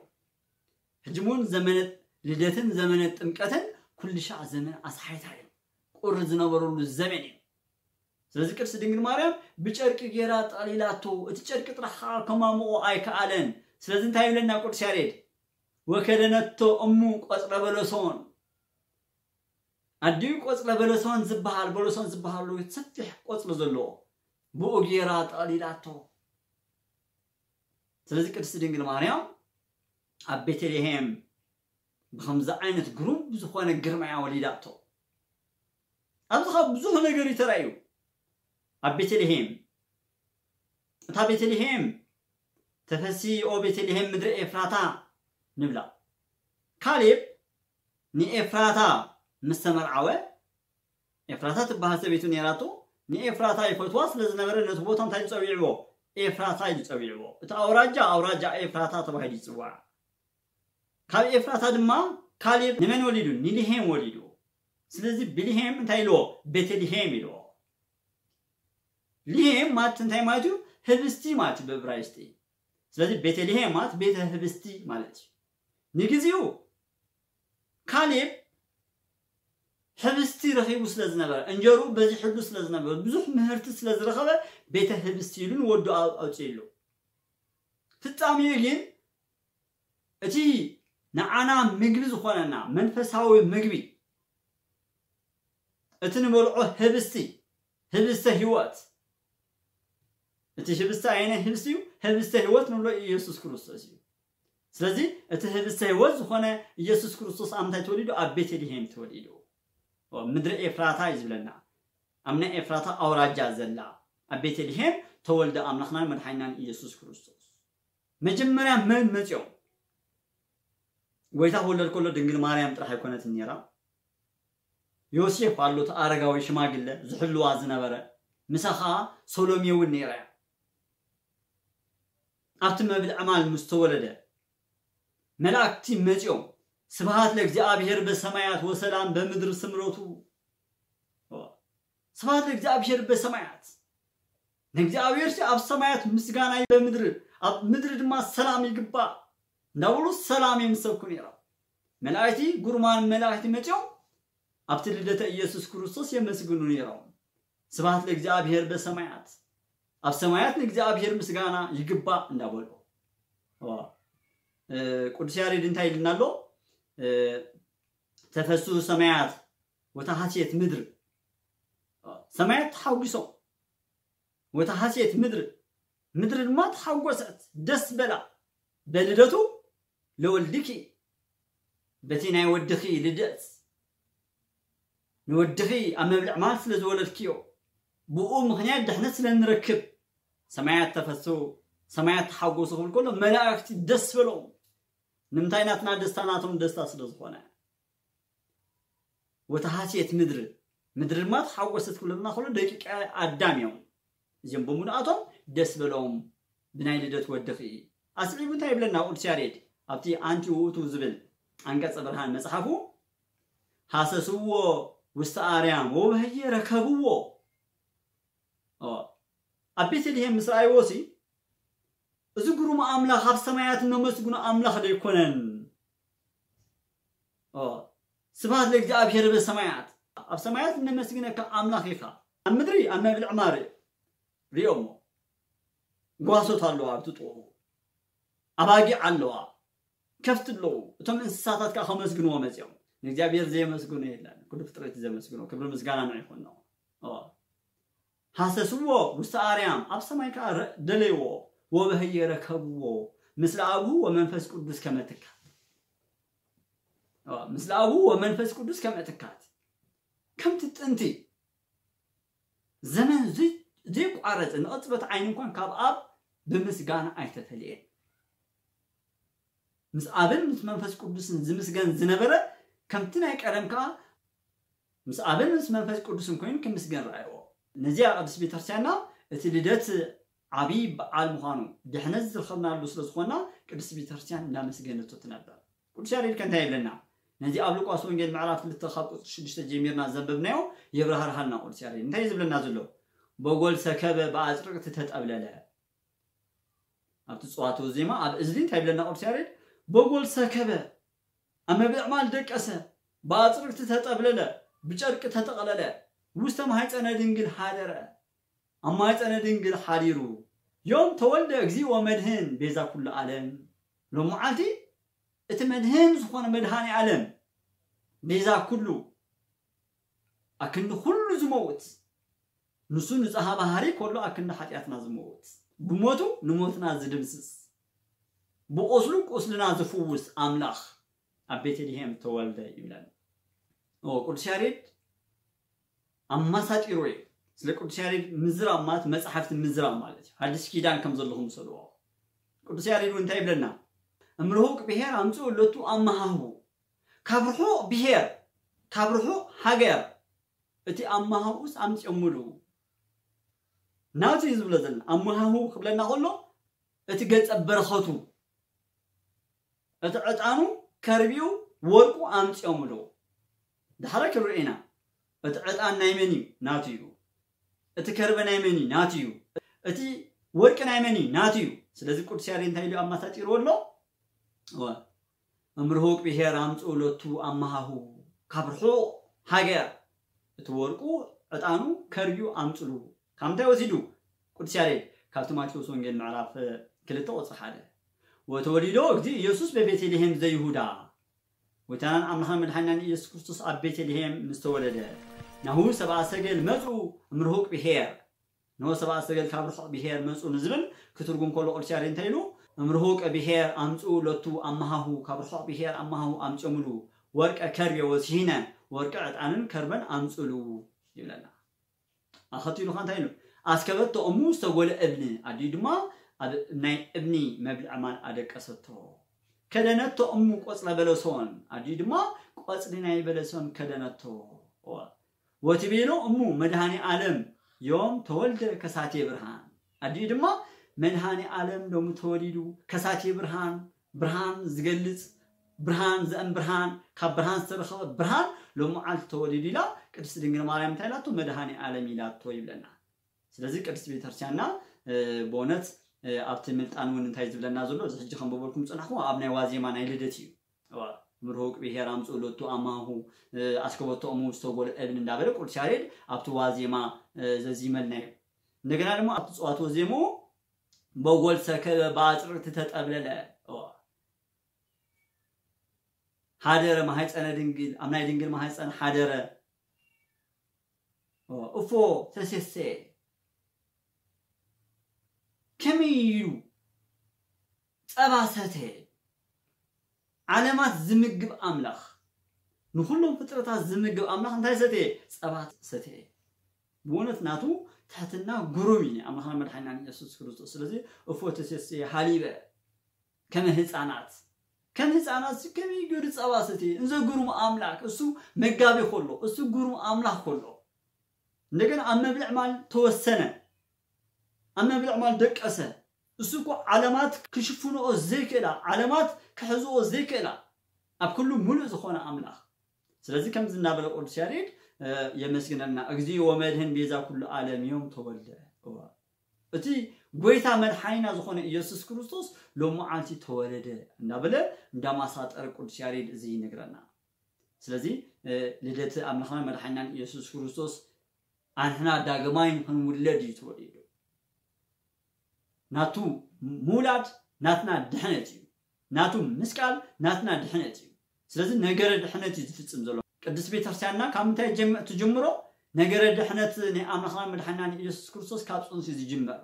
ሕጂ እውን ዘመነ ልደትን ዘመነ ጥምቀትን ኩሉ ሻዕ ዘመነ ኣስሓይታ እዩ። ቁሪ ዝነበረሉ ዘመን እዩ። ስለዚ ቅድስቲ ድንግል ማርያም ብጨርቂ ገይራ ጠሊላቶ። እቲ ጨርቂ ጥራሕ ከዓ ከማምቆ ኣይከኣለን። ስለዚ እንታይ ይብለና ቅዱስ ያሬድ? ወከደነቶ እሙ ቆጽረ በለሶን። ኣዲኡ ቆጽረ በለሶን ዝበሃል፣ በለሶን ዝበሃል ሰፊሕ ቆጽሊ ዘለዎ፣ ብኡ ገይራ ጠሊላቶ። ስለዚ ቅድስቲ ድንግል ማርያም ኣብ ቤተልሔም ብኸምዚ ዓይነት ግሩም ዝኾነ ግርማ እያ ወሊዳቶ። ኣብዚ ኸኣ ብዙሕ ነገር እዩ ተራእዩ። ኣብ ቤተልሔም፣ እታ ቤተልሔም ተፈሲ ኦ ቤተልሔም ምድሪ ኤፍራታ ንብላ። ካሌብ ንኤፍራታ ምስ ተመርዓወ፣ ኤፍራታ ትበሃል ሰበይቱ ነይራቶ፣ ንኤፍራታ ይፈትዋ ስለ ዝነበረ ነቲ ቦታ እንታይ ዝጸዊዕዎ? ኤፍራታ ኢሉ ጸዊዕዎ። እቲ ኣውራጃ ኣውራጃ ኤፍራታ ተባሂሉ ይጽዋዕ። ካብ ኤፍራታ ድማ ካሌብ ንመን ወሊዱ? ንልሄም ወሊዱ። ስለዚ ብልሄም እንታይ ኢልዎ? ቤተልሄም ኢልዎ። ልሄም ማለት እንታይ ማለት እዩ? ህብስቲ ማለት እዩ ብእብራይስጢ። ስለዚ ቤተልሄም ማለት ቤተ ህብስቲ ማለት እዩ። ንግዚኡ ካሌብ ህብስቲ ረኺቡ ስለ ዝነበረ፣ እንጀሩ በዚሕሉ ስለ ዝነበረ፣ ብዙሕ ምህርቲ ስለ ዝረኸበ ቤተ ህብስቲ ኢሉ ንወዱ ኣውፅእሉ። ፍጻሜኡ ግን እቲ ንዓና ምግቢ ዝኾነና መንፈሳዊ ምግቢ፣ እቲ ንበልዖ ህብስቲ፣ ህብስተ ህይወት፣ እቲ ህብስቲ ኣየናይ ህብስቲ እዩ? ህብስተ ህይወት ንብሎ ኢየሱስ ክርስቶስ እዩ። ስለዚ እቲ ህብስተ ህይወት ዝኾነ ኢየሱስ ክርስቶስ ኣብ ምንታይ ተወሊዱ? ኣብ ቤተልሔም ተወሊዱ። ምድሪ ኤፍራታ እዩ ዝብለና። ኣብ ናይ ኤፍራታ ኣውራጃ ዘላ ኣብ ቤተልሔም ተወልደ ኣምላኽናን መድሓኒናን ኢየሱስ ክርስቶስ። መጀመርያ መን መፅኦም? ጎይታ ክወለድ ከሎ ድንግል ማርያም ጥራሕ ኣይኮነትን ነይራ። ዮሴፍ ኣሎ፣ እቲ ኣረጋዊ ሽማግለ ዝሕልዋ ዝነበረ፣ ምሳ ኸዓ ሰሎሜ እውን ነይራ እያ። ኣብቲ መብል ዕማል ምስ ተወለደ መላእክቲ መፂኦም፣ ስብሃት ለእግዚኣብሔር በሰማያት ወሰላም በምድር ስምረቱ። ስብሃት ለእግዚኣብሔር በሰማያት፣ ንእግዚኣብሔር ኣብ ሰማያት ምስጋና በምድር፣ ኣብ ምድሪ ድማ ሰላም ይግባእ እንዳበሉ ሰላም እዮም ዝሰብኩ ነይሮም። መላእክቲ፣ ግሩማን መላእክቲ መፂኦም ኣብቲ ልደተ ኢየሱስ ክርስቶስ የመስግኑ ነይሮም። ስብሃት ለእግዚኣብሔር በሰማያት፣ ኣብ ሰማያት ንእግዚኣብሔር ምስጋና ይግባእ እንዳበሉ። ቅዱስ ያሬድ እንታይ ይልና ኣሎ? ተፈሱ ሰማያት ወተሃስየት ምድር፣ ሰማያት ተሓጒሶም። ወተሃስየት ምድር፣ ምድሪ ድማ ተሓጎሰት፣ ደስ በላ። በልደቱ ለወልድኪ፣ በቲ ናይ ወድኺ ልደት፣ ንወድኺ ኣብ መብልዕ ማል ስለ ዝወለድክዮ፣ ብኡ ምኽንያት ድሕነት ስለ ንረክብ፣ ሰማያት ተፈሱ፣ ሰማያት ተሓጎሱ ክብል ከሎ መላእክቲ ደስ በሎም። ንምንታይ? ናትና ደስታ ናቶም ደስታ ስለ ዝኾነ። ወተሃስየት ምድር፣ ምድሪ ድማ ተሓጎሰት ክብለና ከሎ ደቂቀ ኣዳም እዮም። እዚኦም ብምልኣቶም ደስ በሎም ብናይ ልደት ወድኺ። ኣስዒቡ እንታይ ይብለና ቅዱስ ያሬድ ኣብቲ ኣንቲ ውእቱ ዝብል ኣንቀጸ ብርሃን መጽሓፉ፣ ሃሰስዎ ውስተ ኣርያም ወበህየ ረከብዎ። ኣብ ቤተልሔም ምስ ረኣይዎ ሲ እዚ ግሩም ኣምላኽ ኣብ ሰማያት እነመስግኖ ኣምላኽ ዶ ኣይኮነን? ስብሐት ለእግዚኣብሔር በሰማያት፣ ኣብ ሰማያት እነመስግነካ ኣምላኽ ኢኻ። ኣብ ምድሪ ኣብ መብልዕ ማር ሪኦሞ፣ ጓሶት ኣለዋ ኣብቲ ጥቕኡ፣ ኣባጊዕ ኣለዋ፣ ከፍቲ ኣለዉ። እቶም እንስሳታት ከኣ ከመስግንዎ መጺኦም። ንእግዚኣብሔር ዘየመስግኖ የለን። ኩሉ ፍጥረት እዩ ዘመስግኖ። ክብሪ ምስጋና ንዑ ይኹን። ሃሰስዎ ውስተ ኣርያም፣ ኣብ ሰማይ ከኣ ደለይዎ። ወበህየ ረከብዎ፣ ምስለ ኣብሁ ወመንፈስ ቅዱስ ከመ ትካት። ምስለ ኣብሁ ወመንፈስ ቅዱስ ከመ ትካት። ከምቲ ጥንቲ ዘመን ዘይቋረጽ ንቕጽበት ዓይኒ እንኳን ካብ ኣብ ብምስጋና ኣይተፈልየን። ምስ ኣብን ምስ መንፈስ ቅዱስን ዝምስገን ዝነበረ ከምቲ ናይ ቀደም ከኣ ምስ ኣብን ምስ መንፈስ ቅዱስን ኮይኑ ክምስገን ረኣይዎ። ነዚኣ ቅድስት ቤተክርስትያንና እቲ ልደት ዓብዪ በዓል ምዃኑ፣ ድሕነት ዝረኸብናሉ ስለ ዝኾንና ቅድስት ቤተክርስትያን እንዳመስገነቶ ትነበር። ቅዱስ ያሬድ ከ እንታይ ይብለና? ነዚ ኣብ ሉቃስ ወንጌል ምዕራፍ ክልተ ካብ ቁጽሪ ሽዱሽተ ጀሚርና ዘንበብናዮ የብራህርሃልና ቅዱስ ያሬድ። እንታይ እዩ ዝብለና ዘሎ? በጎል ሰከበ ብኣጽርቅቲ ተጠብለለ። ኣብቲ ጽዋቱ ዜማ ኣብ እዝሊ እንታይ ይብለና ቅዱስ ያሬድ? በጎል ሰከበ፣ ኣብ መብልዕ ማል ደቀሰ፣ ብኣጽርቅቲ ተጠብለለ፣ ብጨርቂ ተጠቕለለ፣ ውስተ ማሕፀነ ድንግል ሓደረ፣ ኣብ ማሕፀነ ድንግል ሓዲሩ። ዮም ተወልደ እግዚእ ወመድህን ቤዛ ኩሉ ዓለም። ሎም መዓልቲ እቲ መድህን ዝኾነ መድሃኒ ዓለም፣ ቤዛ ኩሉ፣ ኣክንዲ ኩሉ ዝመውት፣ ንሱ ንጽሃ ባህሪ ከሎ ኣክንዲ ሓጢኣትና ዝመውት፣ ብሞቱ ንሞትና ዝድምስስ፣ ብቁስሉ ቁስልና ዝፍውስ ኣምላኽ ኣብ ቤተልሔም ተወልደ ይብለና። ኦ፣ ቅዱስ ያሬድ ኣማሳጢሩ እዩ። ስለ ቅዱስ ያሬድ ምዝራብ ማለት መጽሓፍቲ ምዝራብ ማለት እዩ። ሓድሽ ኪዳን ከም ዘለኹም ውሰድዎ። ቅዱስ ያሬድ እውን እንታይ ይብለና? እምርሁቅ ብሔር ኣምጽኡ ለቱ ኣመሃሁ፣ ካብ ርሑቕ ብሔር፣ ካብ ርሑቕ ሃገር እቲ ኣመሃሁስ ኣምጽኦምሉ። ናቱ እዩ ዝብሎ ዘለና። ኣመሃሁ ክብለና ከሎ እቲ ገጸ በረኸቱ፣ እቲ ዕጣኑ፣ ከርቢኡ፣ ወርቁ ኣምጽኦምሉ። ዳሕረ ክንርኢ ኢና። እቲ ዕጣን ናይ መን እዩ? ናቱ እዩ። እቲ ከርበ ናይ መን እዩ? ናቱ እዩ። እቲ ወርቂ ናይ መን እዩ? ናቱ እዩ። ስለዚ ቅዱስ ያሬድ እንታይ ኢሉ ኣማሳጢርዎ ኣሎ? እወ፣ እምርሁቅ ብሔር ኣምጽኡ ለቱ ኣመሃሁ፣ ካብ ርሑቕ ሃገር እቲ ወርቁ፣ ዕጣኑ፣ ከርቢኡ ኣምጽሉ። ካብ ምንታይ ወሲዱ ቅዱስ ያሬድ? ካብቲ ማቴዎስ ወንጌል ምዕራፍ ክልተ ቁጽሪ ሓደ። ወተወሊዶ እግዚእ ኢየሱስ በቤተልሔም ዘይሁዳ፣ ጎይታናን ኣምላኽን መድሓኒናን ኢየሱስ ክርስቶስ ኣብ ቤተልሔም ምስ ተወለደ፣ ናሁ ሰብኣ ሰገል መጹ እምርሁቅ ብሔር፣ ንሆ ሰብኣ ሰገል ካብ ርሑቕ ብሔር መጹ ንዝብል ክትርጉም ከሎ ቅዱስ ያሬድ እንታይ ኢሉ? እምርሁቅ ብሔር ኣምጽኡ ለቱ ኣመሃሁ፣ ካብ ርሑቕ ብሔር ኣመሃሁ ኣምጽኦምሉ፣ ወርቀ ከርቤ ወስሂነ፣ ወርቂ ዕጣንን ከርበን ኣምጽሉ ይብለና። ኣኸቲሉ ኸ እንታይ ኢሉ? ኣስከበቶ እሙ ዝተጎለ እብኒ፣ ኣዲኡ ድማ ኣብ ናይ እብኒ መብልዒ ማል ኣደቀሰቶ። ከደነቶ እሙ ቆጽለ በለሶን፣ ኣዲኡ ድማ ቆጽሊ ናይ በለሶን ከደነቶ። ወትቤሎ እሙ መድኃኔ ዓለም ዮም ተወልደ ከሳቴ ብርሃን፣ ኣዲኡ ድማ መድኃኔ ዓለም ሎሚ ተወሊዱ፣ ከሳቴ ብርሃን፣ ብርሃን ዝገልጽ፣ ብርሃን ዘእም ብርሃን፣ ካብ ብርሃን ዝተረኸበ ብርሃን ሎሚ መዓልቲ ተወሊዱ ኢላ ቅድስት ድንግል ማርያም እንታይ ኢላቶ? መድኃኔ ዓለም ኢላቶ ይብለና። ስለዚ ቅድስት ቤተክርስትያንና ብእውነት ኣብቲ ምልጣን እውን እንታይ ዝብለና ዘሎ፣ እዚ ሕጂ ከም በበልኩም ዝጸናሕኩ ኣብ ናይ ዋዜማ ናይ ልደት እዩ። ምርሁቅ ብሔር ኣምጽኡ ሎቱ ኣማሁ ኣስከበቶ እሙ ዝተጎለ እብን እንዳበለ ቅዱስ ያሬድ ኣብቲ ዋዜማ ዘዚመልና እዩ። እንደገና ድማ ኣብቲ ጽዋት ወዜሙ በጎል ሰከበ በአጽርዕቲ ተጠብለለ፣ ሓደረ ማህፀነ ድንግል፣ ኣብ ናይ ድንግል ማህፀን ሓደረ። እፎ ተሴሰ፣ ከመይ ኢሉ ጸባ ሰተ? ዓለማት ዝምግብ ኣምላኽ፣ ንኹሎም ፍጥረታት ዝምግብ ኣምላኽ እንታይ ሰተ? ጸባ ሰተ። ብእውነት ናቱ ትሕትና ግሩም እዩ፣ ኣምላኽና መድሓኒናን ኢየሱስ ክርስቶስ። ስለዚ እፎ ተሴሰ ሃሊበ ከመ ህፃናት፣ ከም ህፃናት ከመይ ገይሩ ጸባ ሰተ? እንዘ ግሩም ኣምላኽ፣ እሱ መጋቢ ከሎ፣ እሱ ግሩም ኣምላኽ ከሎ፣ እንደገና ኣብ መብልዕ ማል ተወሰነ፣ ኣብ መብልዕ ማል ደቀሰ። እሱ እኮ ዓለማት ክሽፍንኦ ዘይክእላ፣ ዓለማት ክሕዝኦ ዘይክእላ፣ ኣብ ኩሉ ሙሉእ ዝኾነ ኣምላኽ። ስለዚ ከምዚ እናበለ ቅዱስ ያሬድ የመስግነልና፣ እግዚእ ወመድህን ቤዛ ኩሉ ዓለም ዮም ተወልደ። እቲ ጎይታ መድሓኒና ዝኾነ ኢየሱስ ክርስቶስ ሎም መዓልቲ ተወለደ እንዳበለ እንዳማሳጠረ ቅዱስ ያሬድ እዚ ይነግረና። ስለዚ ልደት ኣምላኽና መድሓኒናን ኢየሱስ ክርስቶስ ኣንሕና ዳግማይ ንኽንውለድ እዩ ተወሊዱ። ናቱ ምውላድ ናትና ድሕነት እዩ። ናቱ ምስቃል ናትና ድሕነት እዩ። ስለዚ ነገረ ድሕነት እዩ ዝፍጽም ዘሎ። ቅድስት ቤተክርስትያንና ካብ ምንታይ ጀም-፣ ትጅምሮ? ነገረ ድሕነት ናይ ኣምላኽና መድሓኒና ንኢየሱስ ክርስቶስ ካብ ጽንሲ ዝጅመር።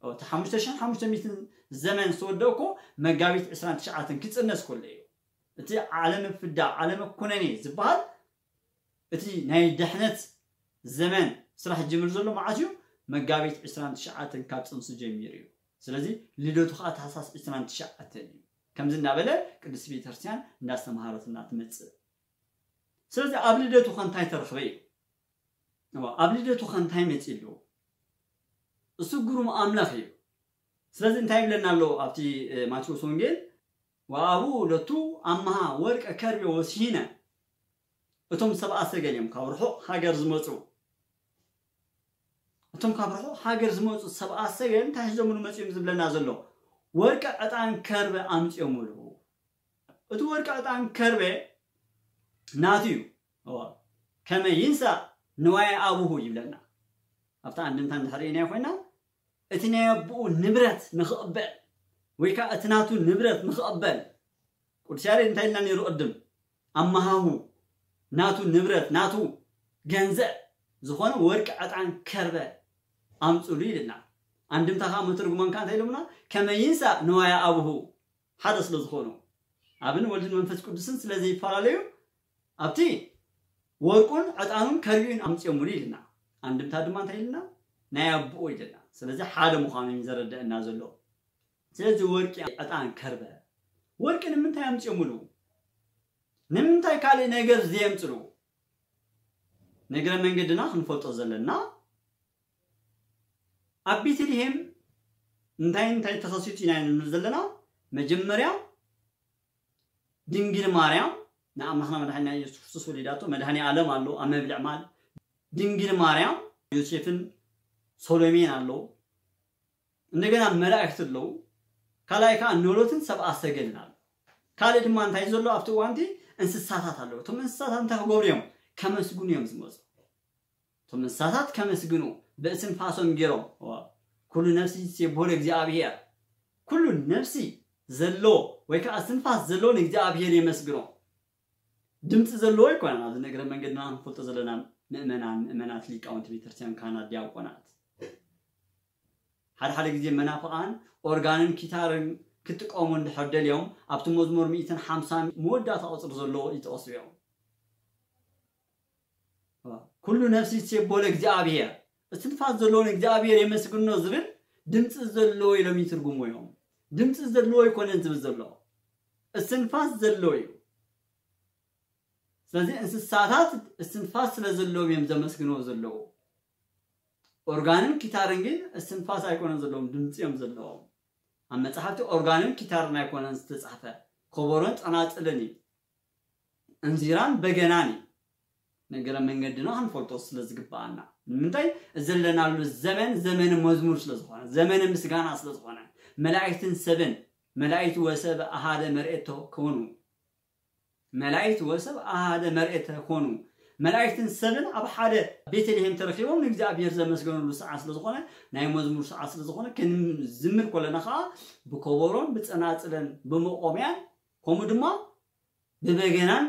እቲ ሓሙሽተ ሽሕን ሓሙሽተ ሚእትን ዘመን ዝተወደአ እኮ መጋቢት ዕስራን ትሽዓተን ክጽነስ ከሎ እዩ። እቲ ዓለመ ፍዳ፣ ዓለመ ኩነኔ ዝበሃል እቲ ናይ ድሕነት ዘመን ስራሕ ዝጅምር ዘሎ መዓት እዩ? መጋቢት ዕስራን ትሽዓተን ካብ ጽንሲ ጀሚሩ እዩ። ስለዚ ልደቱ ከዓ ታህሳስ ዕስራን ትሽዓተን እዩ። ከምዚ እናበለ ቅድስት ቤተክርስትያን እንዳስተምሃረትና ትመጽእ። ስለዚ ኣብ ልደቱ ከ እንታይ ተረኽበ እዩ? እዋ፣ ኣብ ልደቱ ከ እንታይ መጺኡ ኣሎ? እሱ ግሩም ኣምላኽ እዩ። ስለዚ እንታይ ይብለና ኣሎ ኣብቲ፣ እ፣ ማቴዎስ ወንጌል? ወአቡ ለቱ ኣምሃ ወርቀ ከርቤ ወስሂነ። እቶም ሰብኣ ሰገል እዮም ካብ ርሑቕ ሃገር ዝመጹ። እቶም ካብ ርሑቕ ሃገር ዝመጹ ሰብኣ ሰገል እንታይ ሒዞምሉ መጺኦም ዝብለና ዘሎ? ወርቀ ዕጣን ከርበ ኣምጺኦምሉ። እቲ ወርቀ ዕጣን ከርበ ናቱ እዩ። እዋ፣ ከመ ይንሳእ ንዋየ ኣቡሁ ይብለና። ኣብታ ኣንድምታ እንድሕር ርኢናዮ ኮይና፣ እቲ ናይ ኣቦኡ ንብረት ንኽቕበል፣ ወይ ከዓ እቲ ናቱ ንብረት ንኽቕበል፣ ቅዱስ ያሬድ እንታይ ኢልና ነይሩ ቅድም? ኣመሃሁ፣ ናቱ ንብረት፣ ናቱ ገንዘብ ዝኾነ ወርቂ፣ ዕጣን፣ ከርበ ኣምጽሉ ኢልና። ኣንድምታ ከዓ መተርጉማን ከዓ እንታይ ኢሎምና? ከመ ይንሳእ ንዋየ ኣቡሁ፣ ሓደ ስለ ዝኾኑ፣ ኣብን ወልድን መንፈስ ቅዱስን ስለ ዘይፈላለዩ፣ ኣብቲ ወርቁን ዕጣኑን ከርቢኡን ኣምጽኦምሉ ኢልና። ኣንድምታ ድማ እንታይ ኢልና? ናይ ኣቦኡ ኢልና። ስለዚ ሓደ ምዃኑ እዩ ዘረደአና ዘሎ። ስለዚ ወርቂ፣ ዕጣን፣ ከርበ፣ ወርቂ ንምንታይ ኣምፅኦምሉ? ንምንታይ ካልእ ነገር ዘየምፅሉ? ንእግረ መንገድና ክንፈልጦ ዘለና፣ ኣብ ቤተልሔም እንታይ እንታይ ተኸሲቱ ኢና ንብል ዘለና? መጀመርያ ድንግል ማርያም ንኣምላኽና መድሓኒና ኢየሱስ ክርስቶስ ወሊዳቶ፣ መድሃኔ ዓለም ኣሎ ኣብ መብልዕ ማል። ድንግል ማርያም፣ ዮሴፍን ሶሎሜን ኣሎ። እንደገና መላእክት ኣለዉ። ካልኣይ ከዓ ኖሎትን ሰብኣ ሰገልን ኣሎ። ካልእ ድማ እንታይ ዘሎ ኣብቲ እዋንቲ? እንስሳታት ኣለዉ። እቶም እንስሳታት እንታይ ክገብሩ እዮም? ከመስግኑ እዮም ዝመፁ። እቶም እንስሳታት ከመስግኑ ብእስትንፋሶም ገይሮም፣ ኩሉ ነፍሲ ትሴብሖ ለእግዚኣብሔር፣ ኩሉ ነፍሲ ዘሎ ወይ ከዓ እስትንፋስ ዘሎ ንእግዚኣብሔር የመስግኖ። ድምፂ ዘለዎ ኣይኮነን። ኣብዚ ንእግረ መንገድና ክንፈልጦ ዘለና ምእመናን፣ ምእመናት፣ ሊቃውንቲ ቤተክርስትያን፣ ካህናት፣ ዲያቆናት፣ ሓደ ሓደ ግዜ መናፍቓን ኦርጋንን ኪታርን ክጥቀሙ እንድሕር ደልዮም ኣብቲ መዝሙር ሚእትን ሓምሳን መወዳእታ ቁፅሪ ዘለዎ ይጠቕሱ እዮም። ኩሉ ነፍሲ ትሴብሖ ለእግዚኣብሔር፣ እስትንፋስ ዘለዎ ንእግዚኣብሔር የመስግኖ ዝብል ድምፂ ዘለዎ ኢሎም ይትርጉሙ እዮም። ድምፂ ዘለዎ ኣይኮነን ዝብል ዘሎ፣ እስትንፋስ ዘለዎ እዩ። ስለዚ እንስሳታት እስትንፋስ ስለ ዘለዎም እዮም ዘመስግንዎ ዘለዉ። ኦርጋንን ኪታርን ግን እስትንፋስ ኣይኮነን ዘለዎም፣ ድምፂ እዮም ዘለዎም። ኣብ መፅሓፍቲ ኦርጋንን ኪታርን ኣይኮነን ዝተፃሕፈ፣ ከበሮን ፀናፅልን እዩ። እንዚራን በገናን እዩ። ነገረ መንገድና ክንፈልጦ ስለ ዝግበኣና። ንምንታይ? ዘለናሉ ዘመን ዘመነ መዝሙር ስለ ዝኾነ፣ ዘመነ ምስጋና ስለ ዝኾነ፣ መላእክትን ሰብን፣ መላእክት ወሰብ ኣሃደ መርኤቶ ኮኑ፣ መላእክት ወሰብ ኣሃደ መርኤተ ኮኑ፣ መላእክትን ሰብን ኣብ ሓደ ቤተልሔም ተረኺቦም ንእግዚኣብሔር ዘመስገኑሉ ሰዓት ስለ ዝኾነ፣ ናይ መዝሙር ሰዓት ስለ ዝኾነ፣ ክንዝምር ከለና ከዓ ብከበሮን ብጸናጽለን ብመቆምያን ከምኡ ድማ ብበገናን